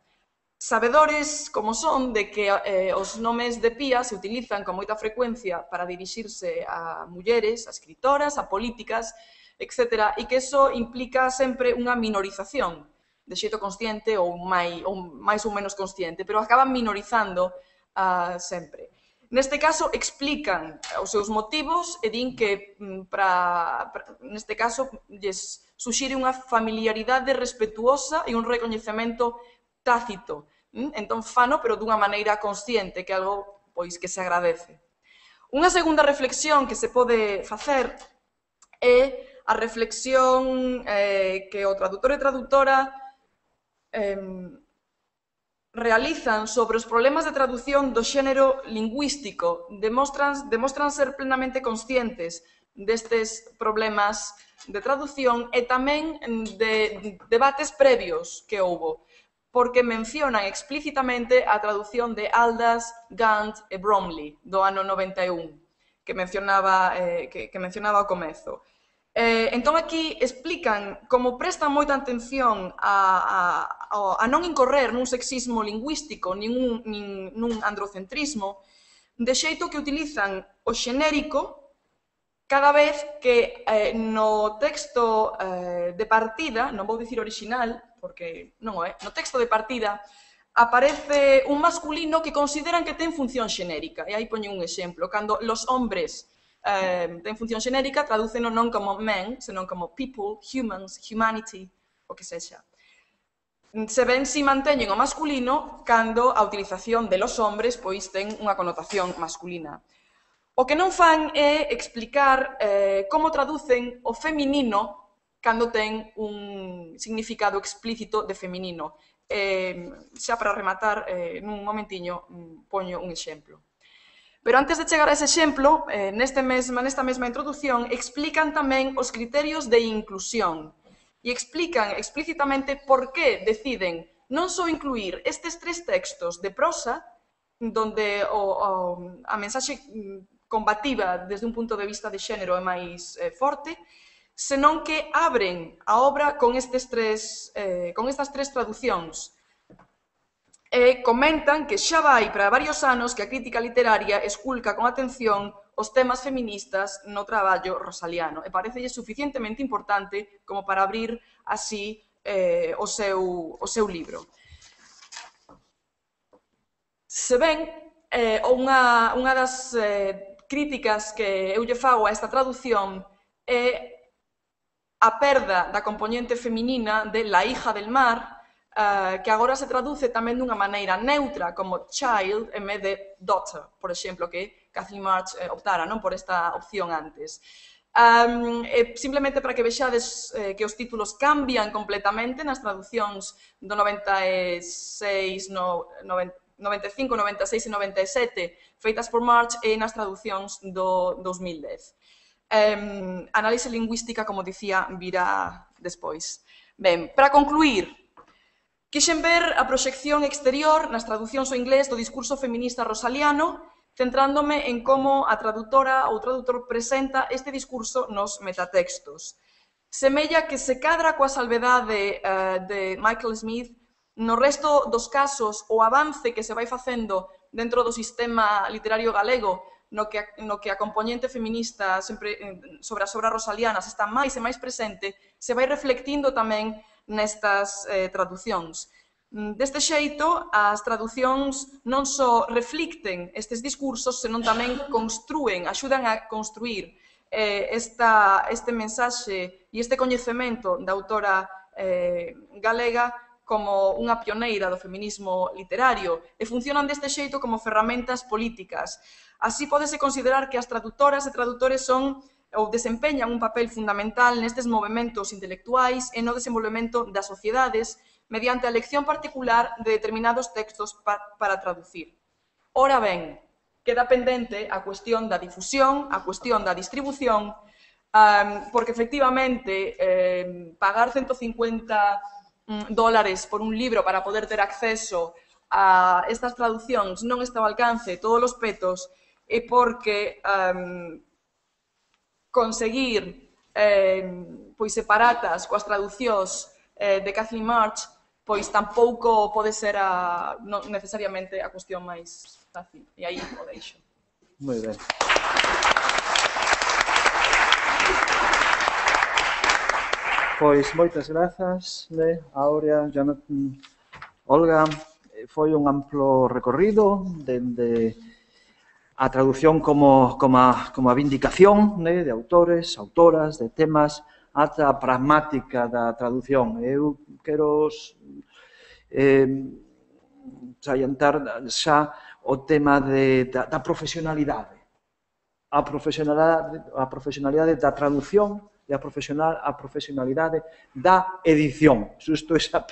Sabedores como son de que eh, os nomes de Pía se utilizan con moita frecuencia para dirixirse a mulleres, a escritoras, a políticas, etcétera, e que eso implica sempre unha minorización, de xeito consciente ou máis ou, máis ou menos consciente, pero acaban minorizando uh, sempre. Neste caso, explican os seus motivos e din que, para, para, neste caso, lles suxire unha familiaridade respetuosa e un recoñecemento tácito. Entón, fano, pero dunha maneira consciente, que é algo pois, que se agradece. Unha segunda reflexión que se pode facer é a reflexión eh, que o traductor e traductora eh, realizan sobre os problemas de traducción do xénero lingüístico, demostran, demostran ser plenamente conscientes destes problemas de traducción e tamén de debates previos que houbo, porque mencionan explícitamente a traducción de Aldous, Gant e Bromley do ano noventa e un, que mencionaba, eh, que, que mencionaba ao comezo. Eh, entón, aquí explican como prestan moita atención a, a, a non incorrer nun sexismo lingüístico nin, un, nin nun androcentrismo, de xeito que utilizan o xenérico cada vez que eh, no texto eh, de partida, non vou dicir original, porque non o é, no texto de partida aparece un masculino que consideran que ten función xenérica. E aí poño un exemplo, cando los hombres Uh, ten función xenérica, tradúceno non como men, senón como people, humans, humanity, o que sexa. Se ven si manteñen o masculino cando a utilización de los hombres pois ten unha connotación masculina. O que non fan é explicar eh, como traducen o feminino cando ten un significado explícito de feminino. Eh, xa para rematar, eh, nun momentiño, poño un exemplo. Pero antes de chegar a ese exemplo, eh, neste mesma, nesta mesma introdución, explican tamén os criterios de inclusión e explican explícitamente por que deciden non só incluir estes tres textos de prosa, donde o, o, a mensaxe combativa desde un punto de vista de xénero é máis eh, forte, senón que abren a obra con, estes tres, eh, con estas tres traducións. E comentan que xa vai para varios anos que a crítica literaria esculca con atención os temas feministas no traballo rosaliano e parecelle suficientemente importante como para abrir así eh, o, seu, o seu libro. Se ben, eh, unha, unha das eh, críticas que eu lle fago a esta traducción é a perda da componente feminina de La hija del mar, Uh, que agora se traduce tamén dunha maneira neutra como child en vez de daughter, por exemplo, que Kathleen March eh, optara non por esta opción antes. Um, eh, simplemente para que vexades eh, que os títulos cambian completamente nas traduccións do noventa e seis, no, noventa e cinco, noventa e seis e noventa e sete feitas por March e nas traducións do dos mil dez. Um, análise lingüística, como dicía, virá despois. Ben, para concluir, quixen ver a proxección exterior nas traducións ao inglés do discurso feminista rosaliano, centrándome en como a tradutora ou tradutor presenta este discurso nos metatextos. Semella que se cadra coa salvedade uh, de Michael Smith, no resto dos casos o avance que se vai facendo dentro do sistema literario galego, no que a, no que a componente feminista sempre sobre as obras rosalianas está máis e máis presente, se vai reflectindo tamén nestas eh, traducións. Deste xeito, as traducións non só reflicten estes discursos, senón tamén construen, axudan a construir eh, esta, este mensaxe e este coñecemento da autora eh, galega como unha pioneira do feminismo literario e funcionan deste xeito como ferramentas políticas. Así pódese considerar que as traductoras e tradutores son ou desempeñan un papel fundamental nestes movementos intelectuais e no desenvolvemento das sociedades mediante a elección particular de determinados textos pa para traducir. Ora ben, queda pendente a cuestión da difusión, a cuestión da distribución, um, porque efectivamente eh, pagar ciento cincuenta mm, dólares por un libro para poder ter acceso a estas traduccións non está ao alcance de todos os petos e porque um, conseguir eh, pois separatas coas traduccións eh, de Kathleen March pois tampouco pode ser a, non necesariamente a cuestión máis fácil. E aí o deixo. Moi ben. Pois moitas grazas, né? Áurea, Jonathan, Olga. Foi un amplo recorrido dende a traducción como, como, a, como a vindicación, né? De autores, autoras, de temas, ata a pragmática da traducción. Eu quero eh, salientar xa o tema de, da, da profesionalidade. A profesionalidade, a profesionalidade da traducción e a, profesional, a profesionalidade da edición. Xusto esa,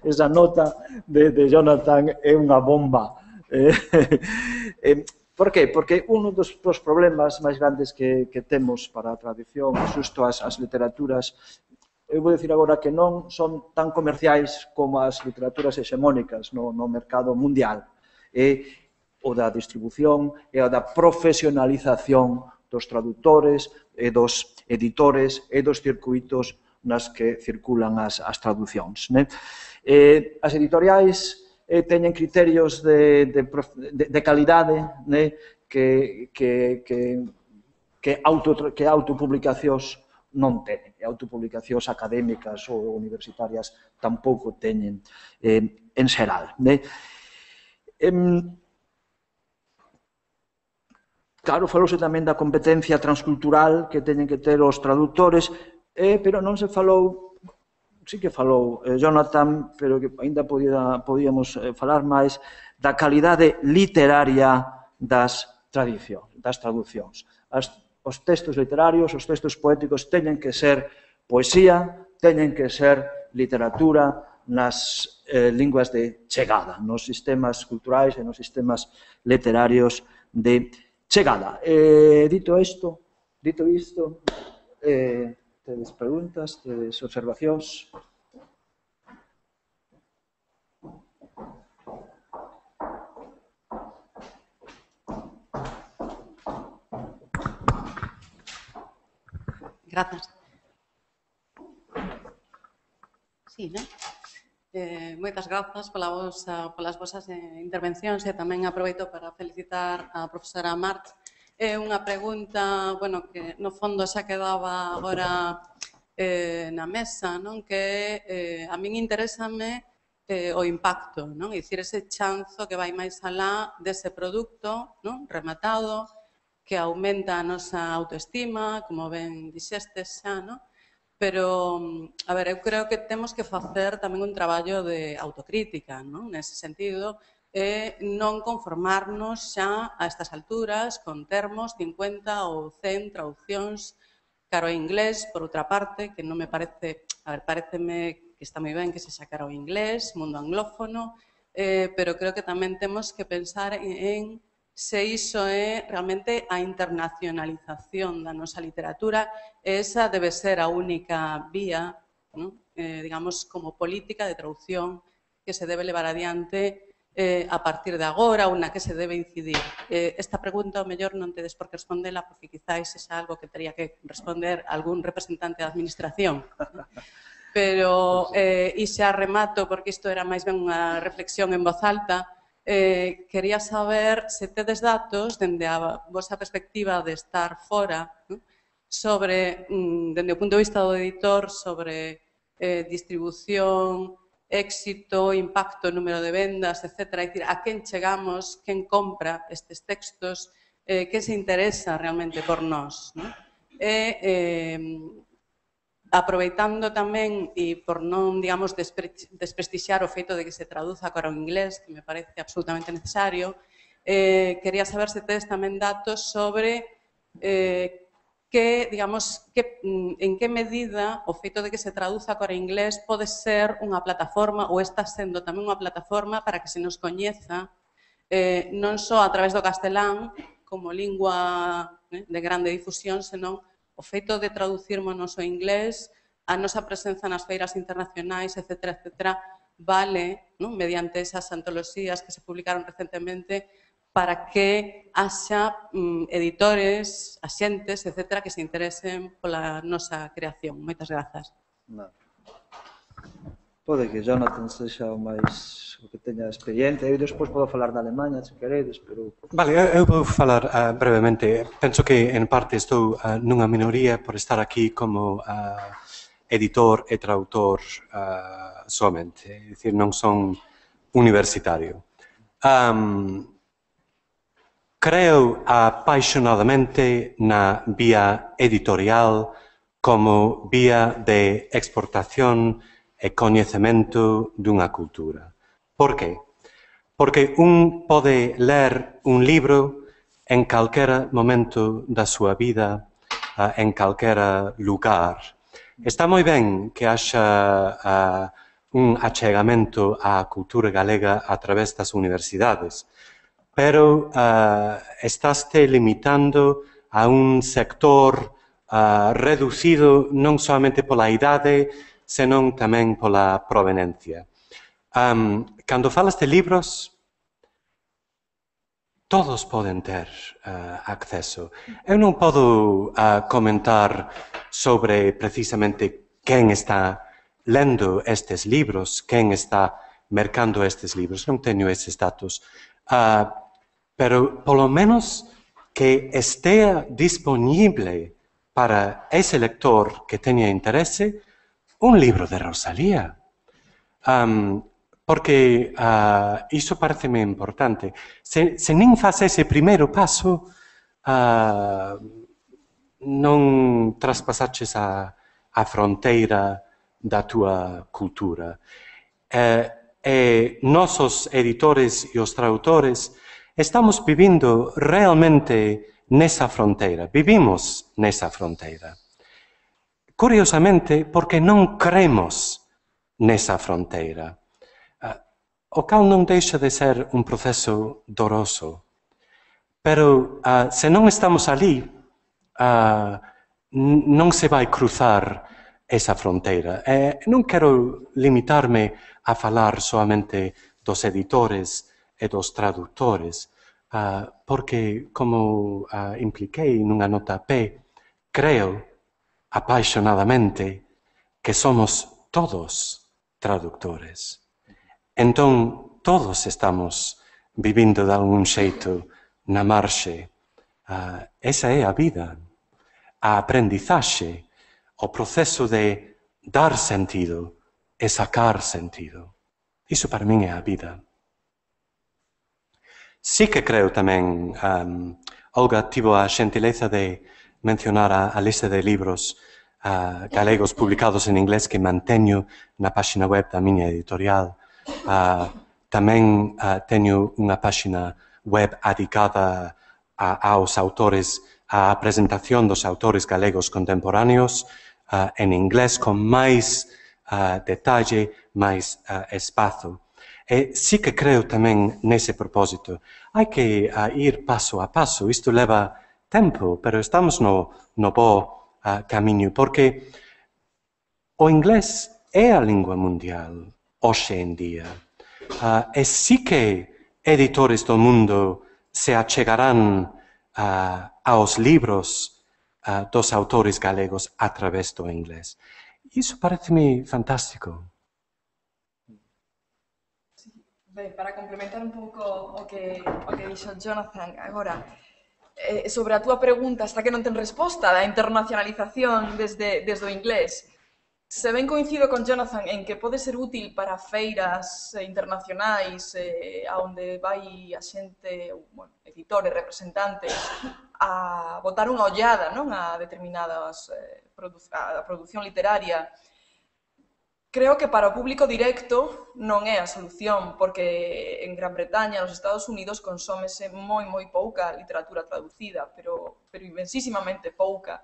esa nota de, de Jonathan é unha bomba. Eh, eh, por qué? Porque un dos, dos problemas máis grandes que, que temos para a traducción, xusto as, as literaturas, eu vou dicir agora que non son tan comerciais como as literaturas hexemónicas no, no mercado mundial. E o da distribución e o da profesionalización dos tradutores e dos editores e dos circuitos nas que circulan as, as traducións. Né? Eh, as editoriais eh, teñen criterios de, de, de, de calidade, né? que, que, que, que, auto, que autopublicacións non teñen. E autopublicacións académicas ou universitarias tampouco teñen eh, en xeral. Né? Eh, Claro, falouse tamén da competencia transcultural que teñen que ter os tradutores, eh, pero non se falou, sí que falou eh, Jonathan, pero que ainda podía, podíamos eh, falar máis, da calidade literaria das tradicións, das traducións. As, os textos literarios, os textos poéticos teñen que ser poesía, teñen que ser literatura nas eh, linguas de chegada, nos sistemas culturais e nos sistemas literarios de chegada. Eh, dito isto, dito isto, eh, tedes preguntas, tedes observacións? Grazas. Sí, non? Eh, moitas grazas pola vosa, polas vosas eh, intervencións e tamén aproveito para felicitar a profesora March. É unha pregunta, bueno, que no fondo xa quedaba agora eh, na mesa, non? Que eh, a min interésame eh, o impacto, non? É dicir, ese chanzo que vai máis alá dese produto, non? Rematado, que aumenta a nosa autoestima, como ben dixestes xa, non? Pero, a ver, eu creo que temos que facer tamén un traballo de autocrítica, non? Nese sentido, e non conformarnos xa a estas alturas con termos cincuenta ou cen traduccións caro a inglés, por outra parte, que non me parece, a ver, pareceme que está moi ben que se xa caro a inglés, mundo anglófono, eh, pero creo que tamén temos que pensar en, en se iso é realmente a internacionalización da nosa literatura, esa debe ser a única vía, ¿no? eh, digamos, como política de traducción que se debe levar adiante eh, a partir de agora ou na que se debe incidir. Eh, esta pregunta, ao mellor, non tedes por que respondela porque quizáis é algo que teria que responder algún representante da administración. Pero, eh, e xa remato, porque isto era máis ben unha reflexión en voz alta, Eh, quería saber se tedes datos, dende a vosa perspectiva de estar fora, ¿no? sobre, mm, dende o punto de vista do editor, sobre eh, distribución, éxito, impacto, número de vendas, etcétera. É dicir, a quen chegamos, quen compra estes textos, eh, quen se interesa realmente por nós, ¿no? E, eh, aproveitando tamén, e por non, digamos, despre desprestixiar o feito de que se traduza para o inglés, que me parece absolutamente necesario, eh, quería saber se tedes tamén datos sobre eh, que, digamos, que, en que medida o feito de que se traduza para o inglés pode ser unha plataforma ou está sendo tamén unha plataforma para que se nos coñeza eh, non só a través do castelán como lingua eh, de grande difusión, senón o feito de traducirmonos ao inglés, a nosa presenza nas feiras internacionais, etcétera, etcétera, vale, non, mediante esas antoloxías que se publicaron recentemente, para que haxa mm, editores, axentes, etcétera, que se interesen pola nosa creación. Moitas grazas. No. Pode que Jonathan sexa o máis o que teña experiencia. Eu despois podo falar da Alemanha, se queredes, pero... Vale, eu vou falar uh, brevemente. Penso que, en parte, estou uh, nunha minoría por estar aquí como uh, editor e traductor uh, somente. É dicir, non son universitario. Um, creo apaixonadamente na vía editorial como vía de exportación e coñecemento dunha cultura. Por qué? Porque un pode ler un libro en calquera momento da súa vida, uh, en calquera lugar. Está moi ben que haxa uh, un achegamento á cultura galega a través das universidades, pero uh, estaste limitando a un sector uh, reducido non solamente pola idade, senón tamén pola provenencia. Um, cando falas de libros, todos poden ter uh, acceso. Eu non podo uh, comentar sobre precisamente quen está lendo estes libros, quen está mercando estes libros. Non teño estes datos. Uh, pero, polo menos, que estea disponible para ese lector que teña interese un libro de Rosalía. Um, porque uh, iso pareceme importante. Se, se nin faz ese primeiro paso, uh, non traspasaches a, a fronteira da túa cultura. Uh, e nosos editores e os traductores estamos vivindo realmente nesa fronteira. Vivimos nesa fronteira. Curiosamente, porque non cremos nesa fronteira. Uh, o cal non deixa de ser un proceso doroso. Pero uh, se non estamos ali, uh, non se vai cruzar esa fronteira. E non quero limitarme a falar solamente dos editores e dos traductores, uh, porque, como uh, impliquei nunha nota P, creo apaixonadamente que somos todos traductores. Entón, todos estamos vivindo de algún xeito na marxe. Uh, esa é a vida, a aprendizaxe, o proceso de dar sentido e sacar sentido. Iso para min é a vida. Sí que creo tamén, um, Olga tivo a xentileza de mencionar a, a lista de libros uh, galegos publicados en inglés que manteño na páxina web da miña editorial. Uh, tamén uh, teño unha páxina web adicada a, aos autores, a presentación dos autores galegos contemporáneos uh, en inglés con máis uh, detalle, máis uh, espazo. E sí que creo tamén nese propósito. Hai que uh, ir paso a paso, isto leva tempo, pero estamos no, no bo uh, camiño, porque o inglés é a lingua mundial hoxe en día. Uh, e sí que editores do mundo se achegarán uh, aos libros uh, dos autores galegos a través do inglés. Iso pareceme fantástico. Sí. Ben, para complementar un pouco o que, o que dixo Jonathan agora, eh, sobre a túa pregunta, hasta que non ten resposta da internacionalización desde, desde o inglés, se ben coincido con Jonathan en que pode ser útil para feiras internacionais eh, onde vai a xente, bueno, editores, representantes, a botar unha ollada, non, a determinadas eh, produ a produción literaria. Creo que para o público directo non é a solución, porque en Gran Bretaña, nos Estados Unidos, consómese moi, moi pouca literatura traducida, pero, pero inmensísimamente pouca.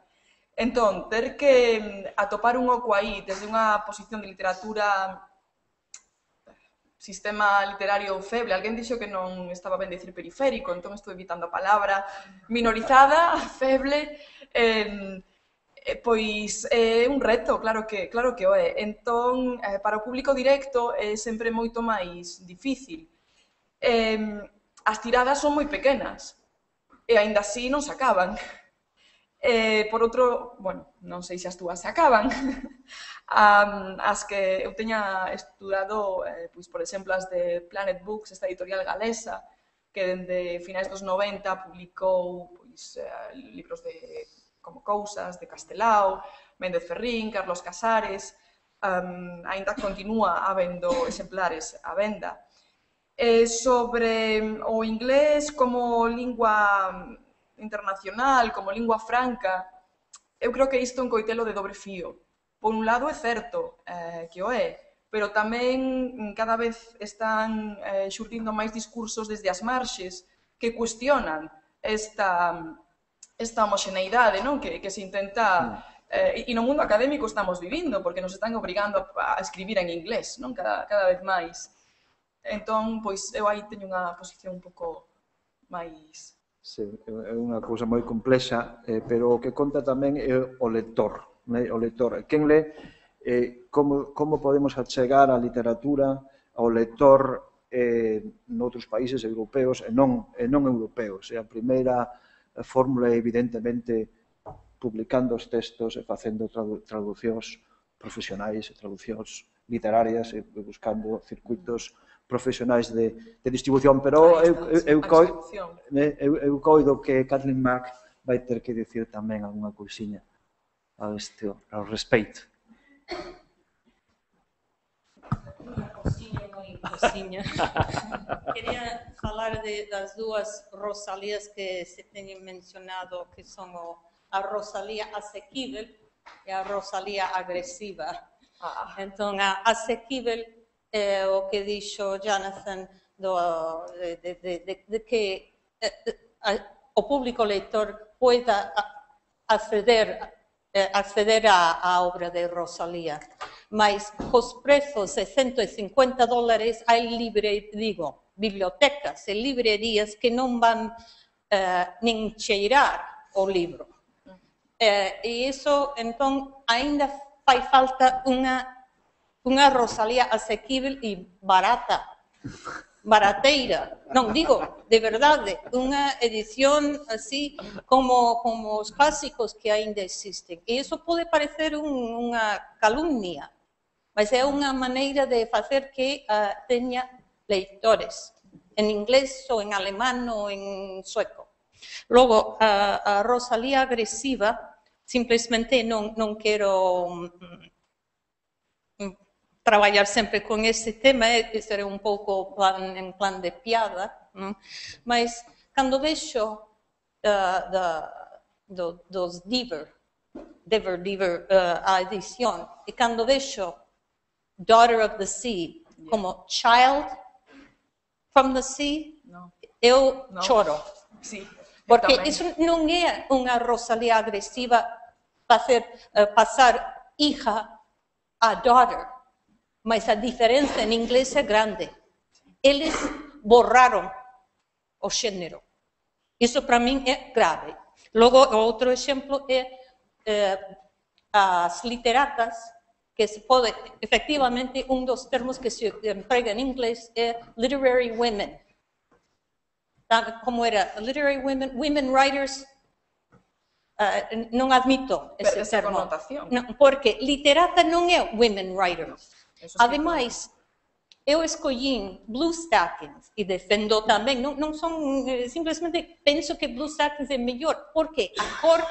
Entón, ter que atopar un oco aí desde unha posición de literatura sistema literario feble. Alguén dixo que non estaba ben dicir periférico, entón estou evitando a palabra minorizada, feble, eh, eh, pois é un reto, claro que, claro que o é. Entón, eh, para o público directo é sempre moito máis difícil. Eh, as tiradas son moi pequenas, e aínda así non se acaban. Eh, por outro, bueno, non sei se as túas se acaban, um, as que eu teña estudado, eh, pois, por exemplo, as de Planet Books, esta editorial galesa, que dende finais dos noventa publicou pois, eh, libros de como Cousas, de Castelao, Méndez Ferrín, Carlos Casares, um, aínda continúa habendo exemplares á venda. Eh, sobre o inglés como lingua internacional, como lingua franca, eu creo que isto é un coitelo de dobre fío. Por un lado é certo eh, que o é, pero tamén cada vez están eh, xurdindo máis discursos desde as marxes que cuestionan esta, esta homoxeneidade, non? Que, que se intenta... Eh, e no mundo académico estamos vivindo, porque nos están obrigando a, a escribir en inglés, non? Cada, cada vez máis. Entón, pois, eu aí teño unha posición un pouco máis... Sí, é unha cousa moi complexa, eh, pero o que conta tamén é o lector. Né? O lector. Quen le, eh, como, como podemos achegar a literatura ao lector eh, noutros países europeos e non, e non europeos. E a primeira fórmula é, evidentemente, publicando os textos e facendo tradu traducións profesionais e traducións literarias e buscando circuitos profesionais de, de distribución, pero eu, eu, eu, coi, eu, eu coido que Kathleen Mack vai ter que dicir tamén algunha cousiña ao, este, ao respeito. Unha cousiña, moi cousiña. Quería falar de, das dúas Rosalías que se teñen mencionado, que son o, a Rosalía asequível e a Rosalía agresiva. Ah. Entón, a asequível é o que dixo Jonathan do, de, de, de, de que eh, a, o público lector poida acceder, eh, acceder á, á obra de Rosalía. Mas cos prezos de cento e cincuenta dólares hai libre, digo, bibliotecas e librerías que non van eh, nin cheirar o libro. Eh, e iso, entón, aínda fai falta unha unha Rosalía asequível e barata, barateira. Non, digo, de verdade, unha edición así como, como os clásicos que aínda existen. E iso pode parecer un, unha calumnia, mas é unha maneira de facer que uh, teña leitores, en inglés ou en alemán ou en sueco. Logo, a, a Rosalía agresiva, simplesmente non, non quero... Um, traballar sempre con ese tema, é ser un pouco plan, en plan de piada, non? Mas cando vexo uh, da, do, dos Diver, Diver, Diver, uh, a edición, e cando vexo Daughter of the Sea como Child from the Sea, no. eu no. choro. Sí, porque iso non é unha Rosalía agresiva facer, uh, pasar hija a daughter. Mas a diferenza en inglés é grande. Eles borraron o xénero. Iso para min é grave. Logo, outro exemplo é eh, as literatas, que se pode, efectivamente, un dos termos que se emprega en inglés é literary women. Como era? Literary women, women writers, uh, non admito ese esa termo. Connotación. Non, porque literata non é women writers. Ademais, eu escollín Bluestackings e defendo tamén, non, non son, simplesmente penso que Bluestackings é mellor, porque a cor,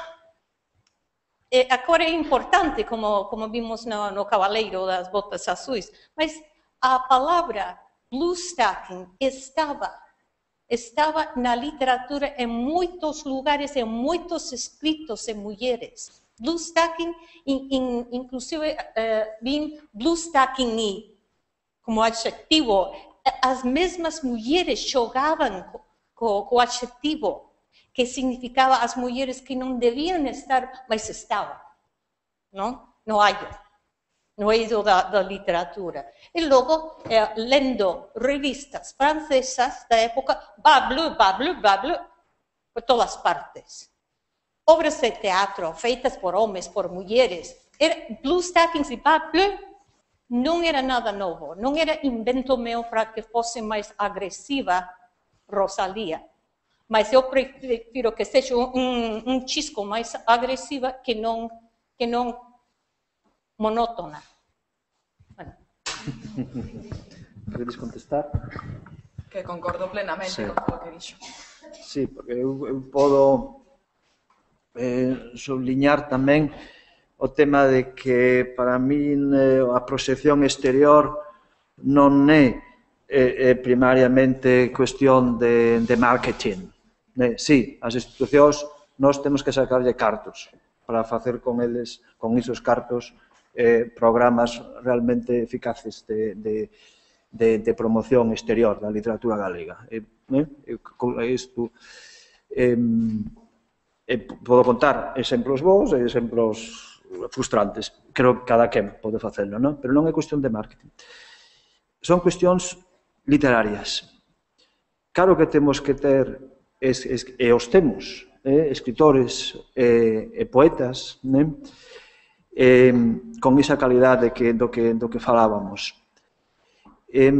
eh, a cor é importante, como, como vimos no, no Cabaleiro das Botas Azuis, mas a palabra Bluestacking estaba, estaba na literatura en moitos lugares, en moitos escritos en mulleres. Bluestacking, in, in, inclusive uh, vin bluestacking como adxectivo. As mesmas mulleres xogaban co, co adxectivo, que significaba as mulleres que non debían estar, mas estaban, non? No hallo. no eido da, da literatura. E logo, eh, lendo revistas francesas da época, Bablu, Bablu, Bablu, por todas partes. Obras de teatro feitas por homens, por mulheres. Era, Blue Stockings e Bablu non era nada novo, non era invento meu para que fosse máis agresiva Rosalía. Mas eu prefiro que seja un, un, un chisco máis agresiva que non, que non monótona. Bueno. Queredes contestar? Que concordo plenamente Sí. con o que dixo. Sí, porque eu, eu podo eh, subliñar tamén o tema de que para min eh, a proxección exterior non é eh, eh, primariamente cuestión de, de marketing. Eh, sí, as institucións nós temos que sacarlle cartos para facer con eles, con isos cartos, eh, programas realmente eficaces de, de, de, de promoción exterior da literatura galega. Eh, eh, isto, eh, eh, podo contar exemplos bons e exemplos frustrantes. Creo que cada quen pode facelo, non? Pero non é cuestión de marketing. Son cuestións literarias. Claro que temos que ter, es, es, e os temos, eh, escritores e, e poetas, né? Eh, con esa calidade que, do, que, do que falábamos. E,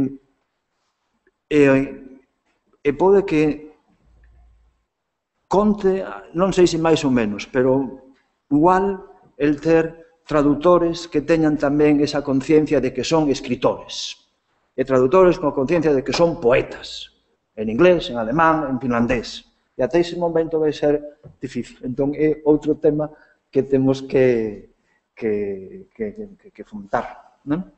e, e pode que conte, non sei se máis ou menos, pero igual el ter traductores que teñan tamén esa conciencia de que son escritores, e traductores con conciencia de que son poetas, en inglés, en alemán, en finlandés. E até ese momento vai ser difícil. Entón, é outro tema que temos que, que, que, que, que fomentar, non?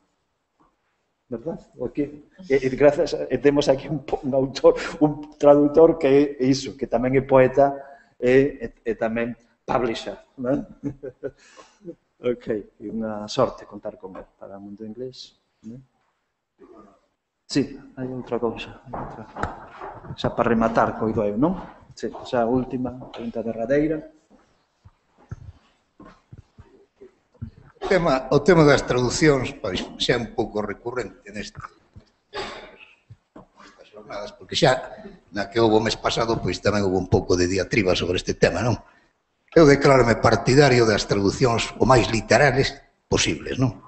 Verdad? Aquí, e, e, grazas, e temos aquí un, un autor, un traductor que é iso, que tamén é poeta e, e, e tamén publisher, non? Ok, e unha sorte contar con él para o mundo inglés. Non? Sí, hai outra cousa. Outra. Xa para rematar, coido eu, non? Sí, xa a última, pregunta derradeira. O tema, o tema das traducións pois, xa é un pouco recurrente neste, nestas jornadas, porque xa na que houve o mes pasado pois tamén houve un pouco de diatriba sobre este tema, non? Eu declárome partidario das traducións o máis literales posibles, non?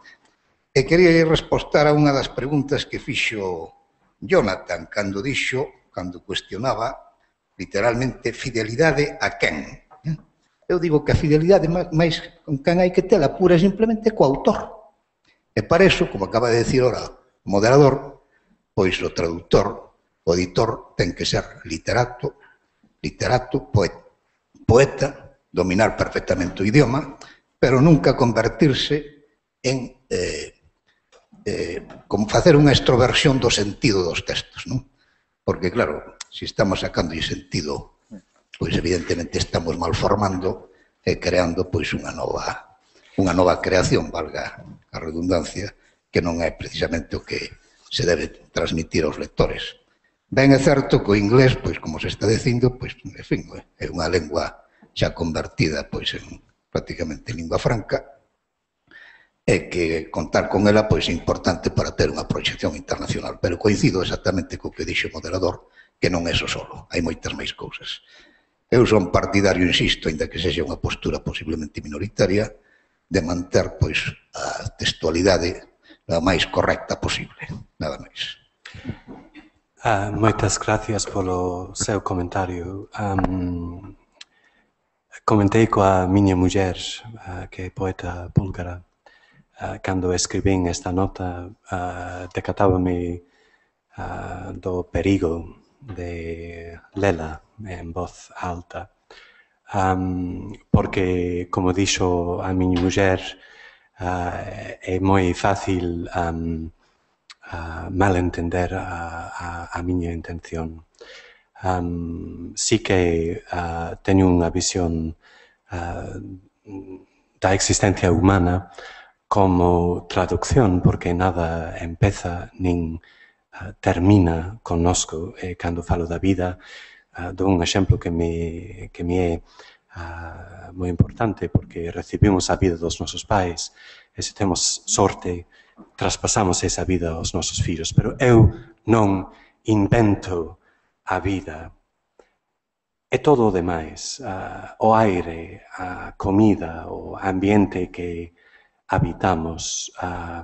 E quería respostar a unha das preguntas que fixo Jonathan cando dixo, cando cuestionaba literalmente fidelidade a quen. Eu digo que a fidelidade máis con quen hai que tela pura e simplemente co autor. E para iso, como acaba de decir ora o moderador, pois o traductor, o editor, ten que ser literato, literato, poeta, poeta, dominar perfectamente o idioma, pero nunca convertirse en eh, eh, como facer unha extroversión do sentido dos textos, non? Porque, claro, se estamos sacando o sentido, pois evidentemente estamos malformando e creando pois unha nova unha nova creación, valga a redundancia, que non é precisamente o que se debe transmitir aos lectores. Ben é certo que o inglés, pois como se está dicindo, pois, en fin, é unha lengua xa convertida pois en prácticamente lingua franca e que contar con ela pois é importante para ter unha proxección internacional, pero coincido exactamente co que dixo o moderador, que non é só solo, hai moitas máis cousas. Eu son partidario, insisto, ainda que sexa unha postura posiblemente minoritaria, de manter pois a textualidade a máis correcta posible, nada máis. Uh, moitas gracias polo seu comentario. Um, comentei coa miña muller, uh, que é poeta búlgara, uh, cando escribín esta nota, uh, decatábame uh, do perigo de lela en voz alta, um, porque, como dixo a miña muller, uh, é moi fácil um, uh, malentender a, a, a miña intención. Um, sí que uh, teño unha visión uh, da existencia humana como traducción, porque nada empeza nin uh, termina connosco. E cando falo da vida, uh, dou un exemplo que me, que me é uh, moi importante, porque recibimos a vida dos nosos pais, e se temos sorte, traspasamos esa vida aos nosos fillos. Pero eu non invento a vida. É todo o demais, uh, o aire, a comida, o ambiente que habitamos. Uh,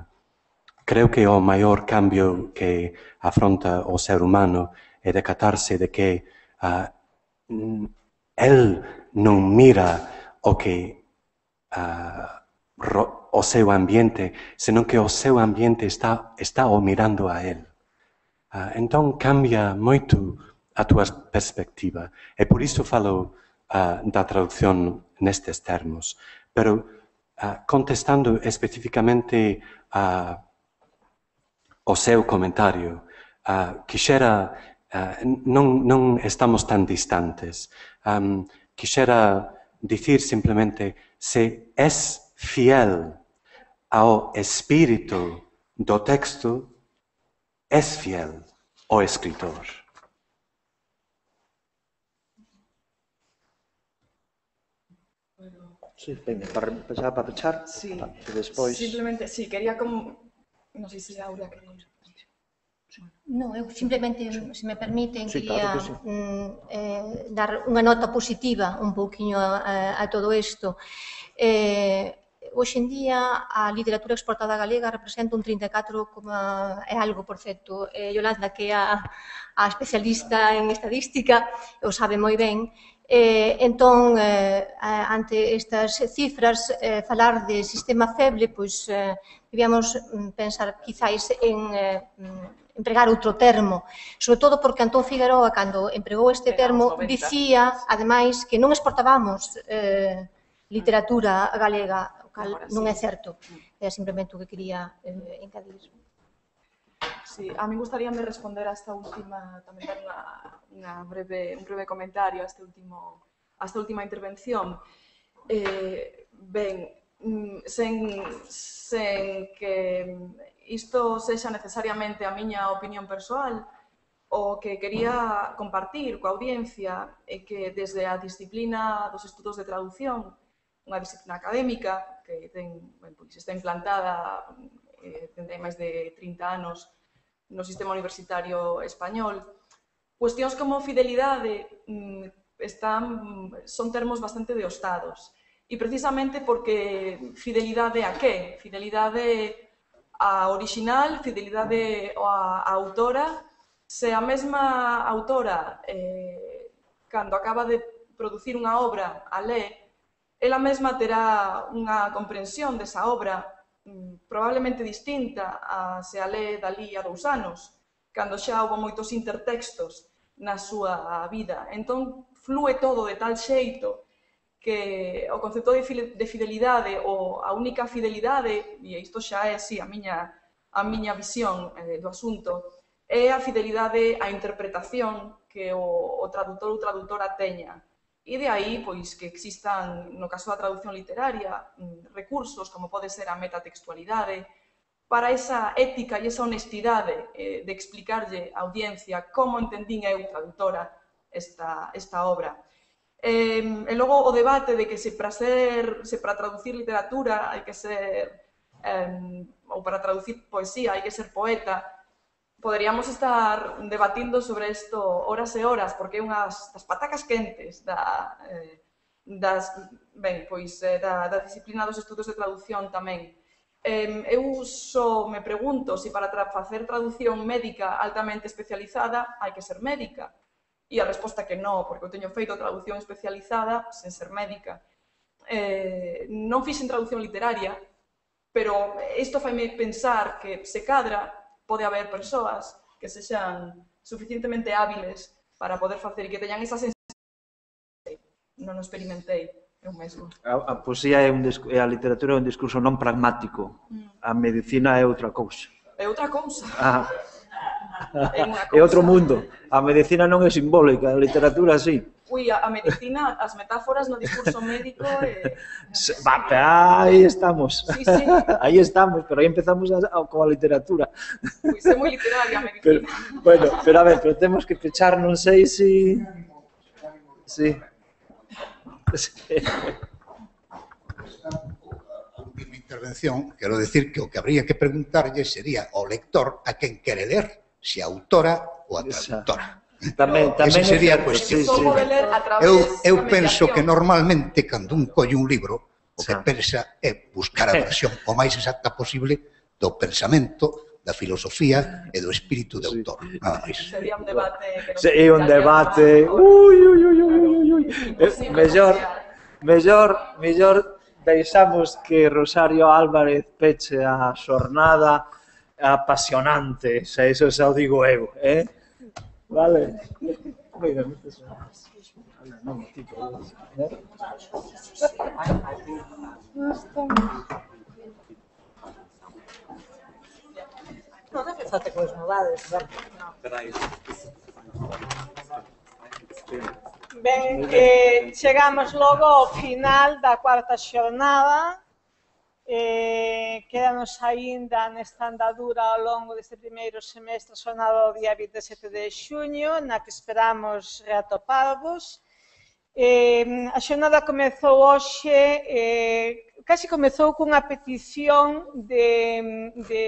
creo que o maior cambio que afronta o ser humano é decatarse de que uh, el non mira o que uh, ro, o seu ambiente, senón que o seu ambiente está, está o mirando a el. Uh, entón cambia moito a túa perspectiva. E por iso falo uh, da traducción nestes termos. Pero uh, contestando especificamente uh, o seu comentario, uh, quixera, uh, non, non estamos tan distantes. Um, quixera dicir simplemente, se es fiel ao espírito do texto, es fiel o escritor. Sí, venga, para empezar, para pechar, Sí, e despois... simplemente, sí, quería como... Non sei se Aurea quería... No, eu simplemente, se me permiten, Sí, quería claro que sí. mm, eh, dar unha nota positiva un pouquiño a, a todo isto. Eh, hoxe en día a literatura exportada galega representa un trinta e catro, é algo, por certo, eh, Yolanda, que é a, a especialista en estadística, o sabe moi ben. Eh, entón, eh, ante estas cifras, eh, falar de sistema feble, pois eh, debíamos pensar quizáis en eh, empregar outro termo, sobre todo porque Antón Figueroa, cando empregou este termo, dicía, ademais, que non exportábamos eh, literatura galega, o cal non é certo. É simplemente o que quería eh, encadir. Sí, a mí gustaríame responder a esta última, tamén dar unha, unha breve, un breve comentario a, este último, a esta última intervención. Eh, ben, sen, sen que isto sexa necesariamente a miña opinión persoal, o que quería compartir coa audiencia é que desde a disciplina dos estudos de traducción, unha disciplina académica que ten, ben, pois, está implantada eh, dende máis de trinta anos no sistema universitario español, cuestións como fidelidade están, son termos bastante deostados. E precisamente porque fidelidade a que? Fidelidade a original, fidelidade a, a autora. Se a mesma autora, eh, cando acaba de producir unha obra, a lé, ela mesma terá unha comprensión desa obra probablemente distinta a se a lé dali a dous anos, cando xa houve moitos intertextos na súa vida. Entón, flúe todo de tal xeito que o concepto de fidelidade, ou a única fidelidade, e isto xa é, sí, a miña, a miña visión eh, do asunto, é a fidelidade á interpretación que o, o traductor ou traductora teña. E de aí, pois, que existan, no caso da traducción literaria, recursos como pode ser a metatextualidade, para esa ética e esa honestidade eh, de explicarlle á audiencia como entendín eu, traductora, esta, esta obra. Eh, e logo o debate de que se para, ser, se para traducir literatura hai que ser, eh, ou para traducir poesía hai que ser poeta. Poderíamos estar debatindo sobre isto horas e horas, porque é unhas das patacas quentes da, eh, das, ben, pois, eh, da, da disciplina dos estudos de traducción tamén. Eh, eu só me pregunto se para tra facer traducción médica altamente especializada hai que ser médica. E a resposta é que non, porque eu teño feito traducción especializada sen ser médica. Eh, non fixen traducción literaria, pero isto faime pensar que se cadra pode haber persoas que sexan suficientemente hábiles para poder facer e que teñan esa sensibilidade. Non o experimentei eu mesmo. A, a poesía é, un, é a literatura é un discurso non pragmático. A medicina é outra cousa. É outra cousa. Ah. É, é outro mundo. A medicina non é simbólica, a literatura sí. Ui, a, a medicina, as metáforas no discurso médico... Eh, Va, aí estamos. Sí, sí. Aí estamos, pero aí empezamos a, a, coa literatura. Pois é moi literaria a medicina. Pero, bueno, pero a ver, pero temos que pechar, non sei si... Sí. Sí. intervención, quero decir que o que habría que preguntarlle sería ao lector a quen quere ler, se a autora ou a traductora. Tamén, tamén Esa sería a é certo, cuestión. sí, sí. Eu, eu penso que normalmente, cando un colle un libro, o que Xa. pensa é buscar a versión o máis exacta posible do pensamento, da filosofía e do espírito de autor. Nada máis. Sería un debate que non Sí, un debate. Ui, ui, ui, ui, ui, ui. Eh, mellor, mellor, mellor deixamos que Rosario Álvarez peche a xornada apasionante, xa iso xa o digo eu, eh? Vale. Mira, moitas gracias. Non, tipo, eh? Non, non fai falta que vos movades, non. Ben, eh, chegamos logo ao final da cuarta xornada. Eh, quedanos aínda nesta andadura ao longo deste primeiro semestre a xornada do día vinte e sete de xuño, na que esperamos reatoparvos. Eh, a xornada comezou hoxe, eh, casi comezou cunha petición de, de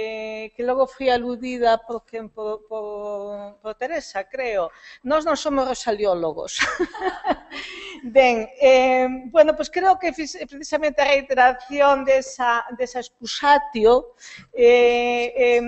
que logo foi aludida por, por, por, por Teresa, creo. Nós non somos rosaliólogos. Ben, eh, bueno, pues creo que precisamente a reiteración desa, desa excusatio eh, eh,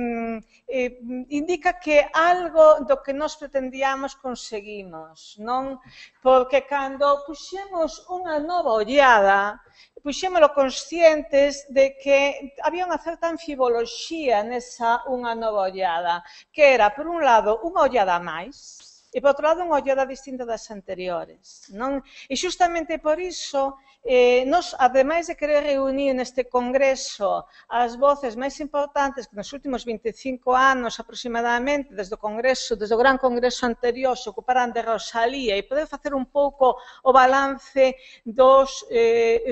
eh, indica que algo do que nós pretendíamos conseguimos, non? Porque cando puxemos unha nova ollada, puxémolo conscientes de que había unha certa anfiboloxía nesa unha nova ollada, que era, por un lado, unha ollada máis, e, por outro lado, unha ollada distinta das anteriores, non? E xustamente por iso, eh, nos, ademais de querer reunir neste congreso as voces máis importantes que nos últimos vinte e cinco anos aproximadamente, desde o congreso, desde o gran congreso anterior, se ocuparan de Rosalía e poder facer un pouco o balance dos, eh,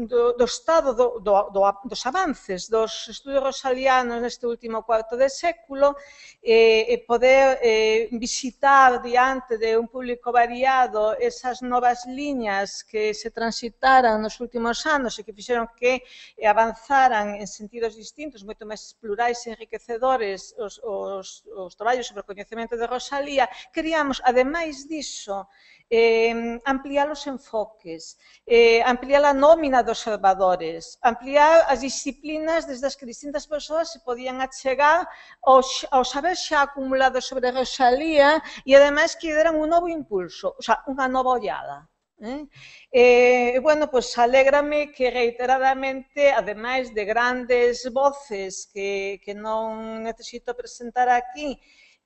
do, do estado do, do, do, dos avances dos estudios rosalianos neste último cuarto de século, e eh, poder eh, visitar diante de un público variado esas novas liñas que se transitaran nos últimos anos e que fixeron que avanzaran en sentidos distintos, moito máis plurais e enriquecedores os, os, os traballos sobre o coñecemento de Rosalía. Queríamos, ademais diso, eh, ampliar os enfoques, eh, ampliar a nómina de observadores, ampliar as disciplinas desde as que distintas persoas se podían achegar ao, ao saber xa acumulado sobre Rosalía e, ademais, que deran un novo impulso, o sea, unha nova ollada. Eh? Eh, bueno, pues alégrame que reiteradamente, ademais de grandes voces que, que non necesito presentar aquí,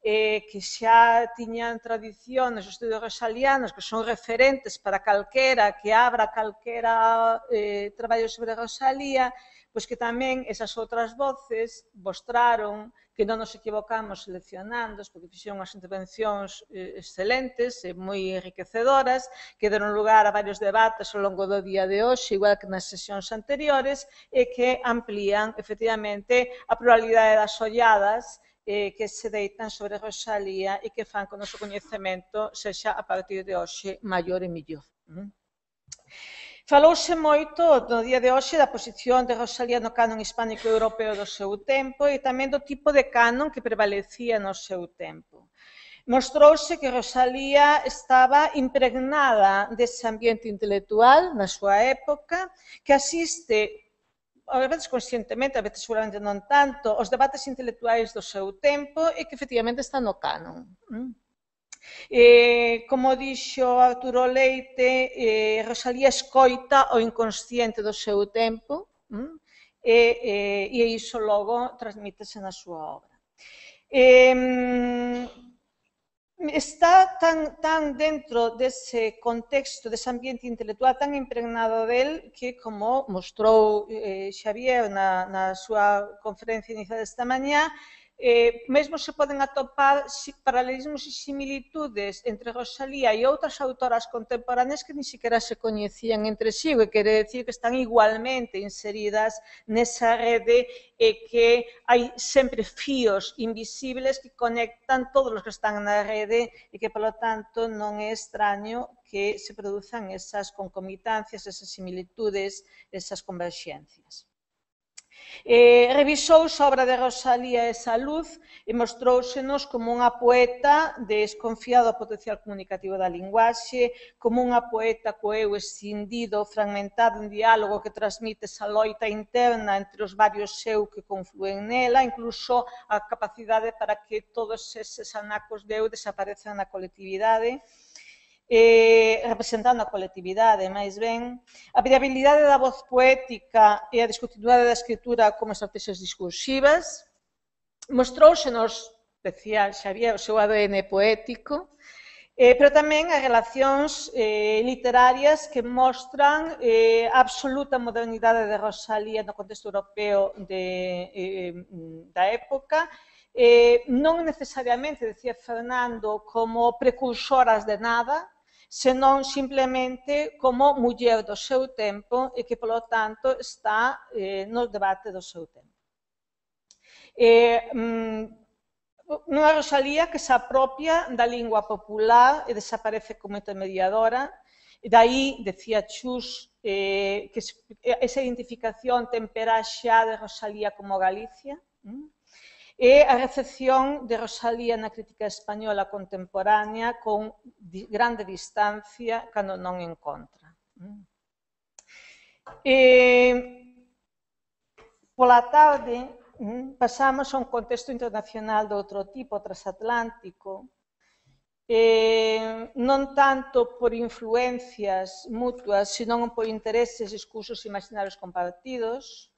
eh, que xa tiñan tradición nos estudios rosalianos, que son referentes para calquera que abra calquera eh, traballo sobre Rosalía, pois que tamén esas outras voces mostraron que non nos equivocamos seleccionando, porque fixeron unhas intervencións eh, excelentes e moi enriquecedoras, que deron lugar a varios debates ao longo do día de hoxe, igual que nas sesións anteriores, e que amplían, efectivamente, a pluralidade das olladas eh, que se deitan sobre Rosalía e que fan que o noso coñecemento sexa, a partir de hoxe, maior e millor. Mm? Falouse moito no día de hoxe da posición de Rosalía no canon hispánico europeo do seu tempo e tamén do tipo de canon que prevalecía no seu tempo. Mostrouse que Rosalía estaba impregnada dese ambiente intelectual na súa época, que asiste, a veces conscientemente, a veces seguramente non tanto, os debates intelectuais do seu tempo e que efectivamente está no canon. Eh, como dixo Arturo Leite, eh, Rosalía escoita o inconsciente do seu tempo mm? e, eh, e iso logo transmítese na súa obra. Eh, está tan, tan dentro dese contexto, dese ambiente intelectual tan impregnado del que, como mostrou eh, Xavier na, na súa conferencia inicial desta mañá, Eh, mesmo se poden atopar paralelismos e similitudes entre Rosalía e outras autoras contemporáneas que ni siquiera se coñecían entre sí, o que quere decir que están igualmente inseridas nesa rede e que hai sempre fíos invisibles que conectan todos os que están na rede e que, polo tanto, non é extraño que se produzan esas concomitancias, esas similitudes, esas converxencias. Eh, revisouse a obra de Rosalía esa luz e mostrousenos como unha poeta desconfiada do potencial comunicativo da linguaxe, como unha poeta co eu escindido, fragmentado en diálogo que transmite esa loita interna entre os varios eu que confluen nela, incluso a capacidade para que todos eses anacos de eu desaparezan na colectividade. Eh, representando a colectividade, máis ben, a variabilidade da voz poética e a discontinuidade da escritura como estrategias discursivas, mostrousenos, decía Xavier, o seu A D N poético, eh, pero tamén as relacións eh, literarias que mostran eh, a absoluta modernidade de Rosalía no contexto europeo de, eh, da época, eh, non necesariamente, decía Fernando, como precursoras de nada, senón simplemente como muller do seu tempo e que, polo tanto, está eh, no debate do seu tempo. Eh, unha Rosalía que se apropia da lingua popular e desaparece como intermediadora, e dai, decía Chus, eh, que esa identificación tempera xa de Rosalía como Galicia, ¿m? E a recepción de Rosalía na crítica española contemporánea con grande distancia cando non en contra. E, pola tarde pasamos a un contexto internacional de outro tipo, transatlántico, eh, non tanto por influencias mutuas, senón por intereses, discursos imaginarios compartidos,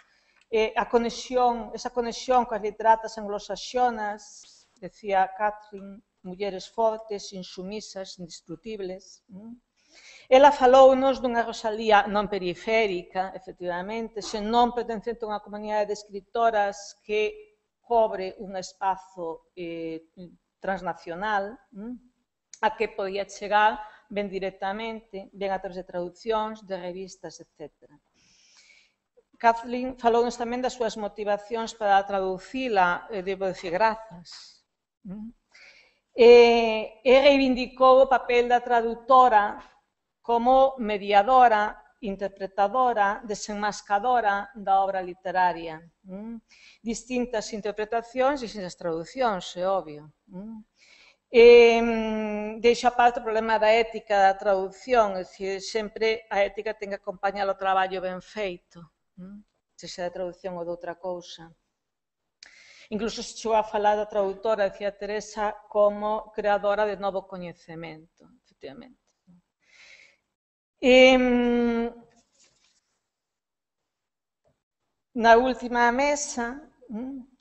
Eh, a conexión, esa conexión coas literatas anglosaxonas, decía Catherine, mulleres fortes, insumisas, indestructibles. Mm. Ela falounos dunha Rosalía non periférica, efectivamente, senón pertencente a unha comunidade de escritoras que cobre un espazo eh, transnacional, mm, a que podía chegar ben directamente, ben a través de traduccións, de revistas, etcétera. Kathleen falounos tamén das súas motivacións para traducila, e debo dicir grazas. E, e reivindicou o papel da traductora como mediadora, interpretadora, desenmascadora da obra literaria. Distintas interpretacións, distintas traduccións, é obvio. E, deixo aparte o problema da ética da traducción, é dicir, sempre a ética ten que acompañar o traballo ben feito, se xa de traducción ou de outra cousa. Incluso se chegou a falar da traductora, decía Teresa, como creadora de novo coñecemento, efectivamente. E, na última mesa,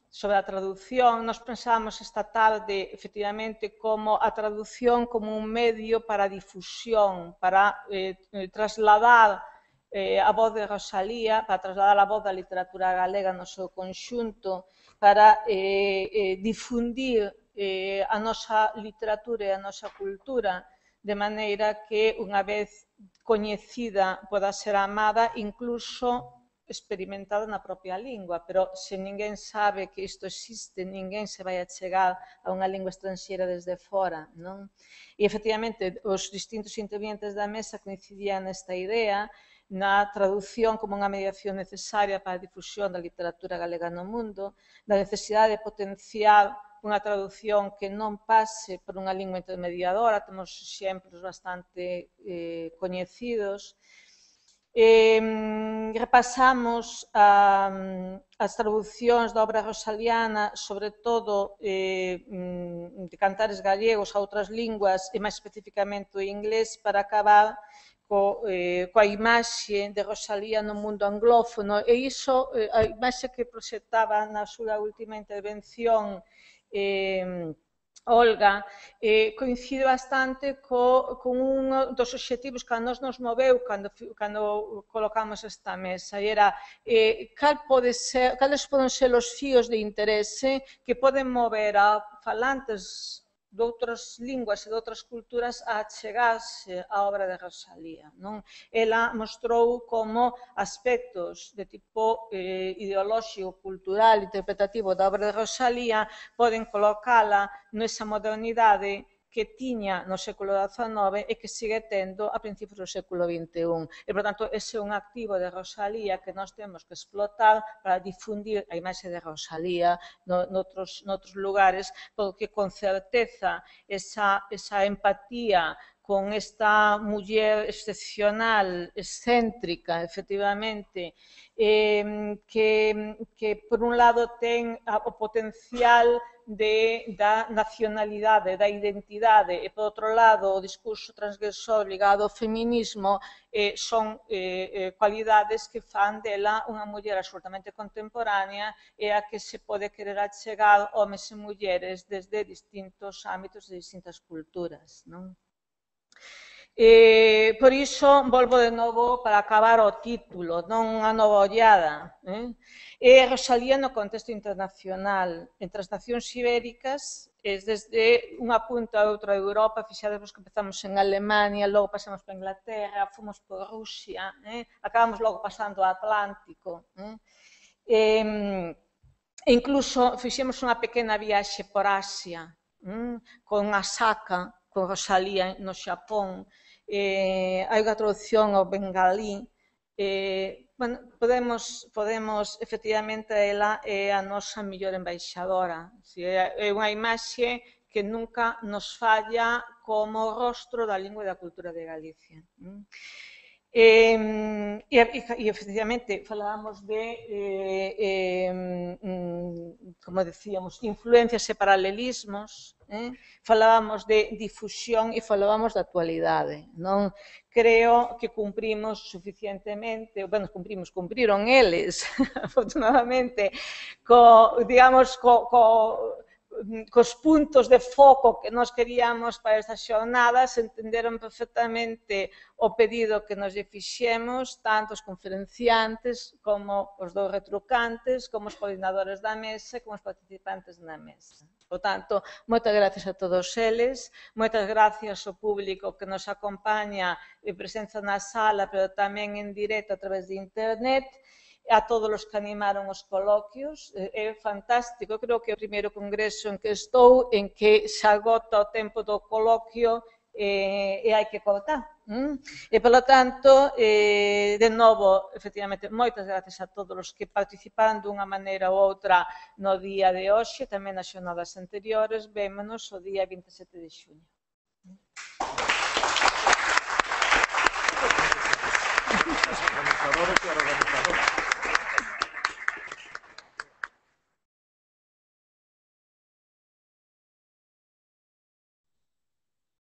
sobre a traducción, nos pensamos esta tarde, efectivamente, como a traducción como un medio para a difusión, para eh, trasladar eh, a voz de Rosalía, para trasladar a voz da literatura galega no seu conxunto, para eh, eh, difundir eh, a nosa literatura e a nosa cultura, de maneira que, unha vez coñecida, poda ser amada, incluso experimentada na propia lingua, pero se ninguén sabe que isto existe, ninguén se vai a chegar a unha lingua estranxeira desde fora, non? E, efectivamente, os distintos intervenientes da mesa coincidían nesta idea, na traducción como unha mediación necesaria para a difusión da literatura galega no mundo, da necesidade de potenciar unha traducción que non pase por unha lingua intermediadora, temos exemplos bastante eh, coñecidos. Eh, repasamos a, as traduccións da obra rosaliana, sobre todo eh, de cantares gallegos a outras linguas e máis especificamente o inglés, para acabar Co, eh, coa imaxe de Rosalía no mundo anglófono, e iso, eh, a imaxe que proxectaba na súa última intervención eh, Olga, eh, coincide bastante co, con un dos obxectivos que a nos nos moveu cando, cando colocamos esta mesa, e era eh, cal pode ser, cales poden ser os fíos de interese que poden mover a falantes de outras linguas e de outras culturas a achegarse á obra de Rosalía. Non? Ela mostrou como aspectos de tipo eh, ideolóxico, cultural, interpretativo da obra de Rosalía poden colocala nesa modernidade que tiña no século dezanove e que sigue tendo a principios do século vinte e un. E, por tanto, ese é un activo de Rosalía que nós temos que explotar para difundir a imaxe de Rosalía no, noutros, noutros lugares, porque con certeza esa, esa empatía con esta muller excepcional, excéntrica, efectivamente, eh, que, que por un lado ten o potencial de, da nacionalidade, da identidade, e por outro lado o discurso transgresor ligado ao feminismo, eh, son eh, eh, cualidades que fan dela unha muller absolutamente contemporánea e a que se pode querer achegar homes e mulleres desde distintos ámbitos de distintas culturas, non? Eh, por iso, volvo de novo para acabar o título, non unha nova ollada. Eh? É Rosalía no contexto internacional, entre as nacións ibéricas, es desde unha punta a outra de Europa, fixadevos que empezamos en Alemania, logo pasamos por Inglaterra, fomos por Rusia, eh? acabamos logo pasando ao Atlántico. Eh? Eh, e incluso fixemos unha pequena viaxe por Asia, eh? con Asaka, con Rosalía no Xapón. Eh, hai unha traducción ao bengalí. Eh, bueno, podemos, podemos, efectivamente, ela é a nosa mellor embaixadora. É unha imaxe que nunca nos falla como rostro da lingua e da cultura de Galicia. Eh, e, e, efectivamente, falábamos de, eh, eh, como decíamos, influencias e paralelismos, eh? falábamos de difusión e falábamos da actualidade. Non creo que cumprimos suficientemente, bueno, cumprimos, cumpriron eles, afortunadamente, co, digamos, co, co cos puntos de foco que nós queríamos para estas xornadas, entenderon perfectamente o pedido que nos lle fixemos, tanto os conferenciantes como os dous retrucantes, como os coordinadores da mesa e como os participantes na mesa. Por tanto, moitas gracias a todos eles, moitas gracias ao público que nos acompaña en presenza na sala, pero tamén en directo a través de internet, a todos os que animaron os coloquios. É fantástico, creo que é o primeiro congreso en que estou, en que se agota o tempo do coloquio e, e hai que cortar. Mm? E, polo tanto, eh, de novo, efectivamente, moitas gracias a todos os que participaron dunha maneira ou outra no día de hoxe, tamén nas xornadas anteriores. Vémonos o día vinte e sete de xuño.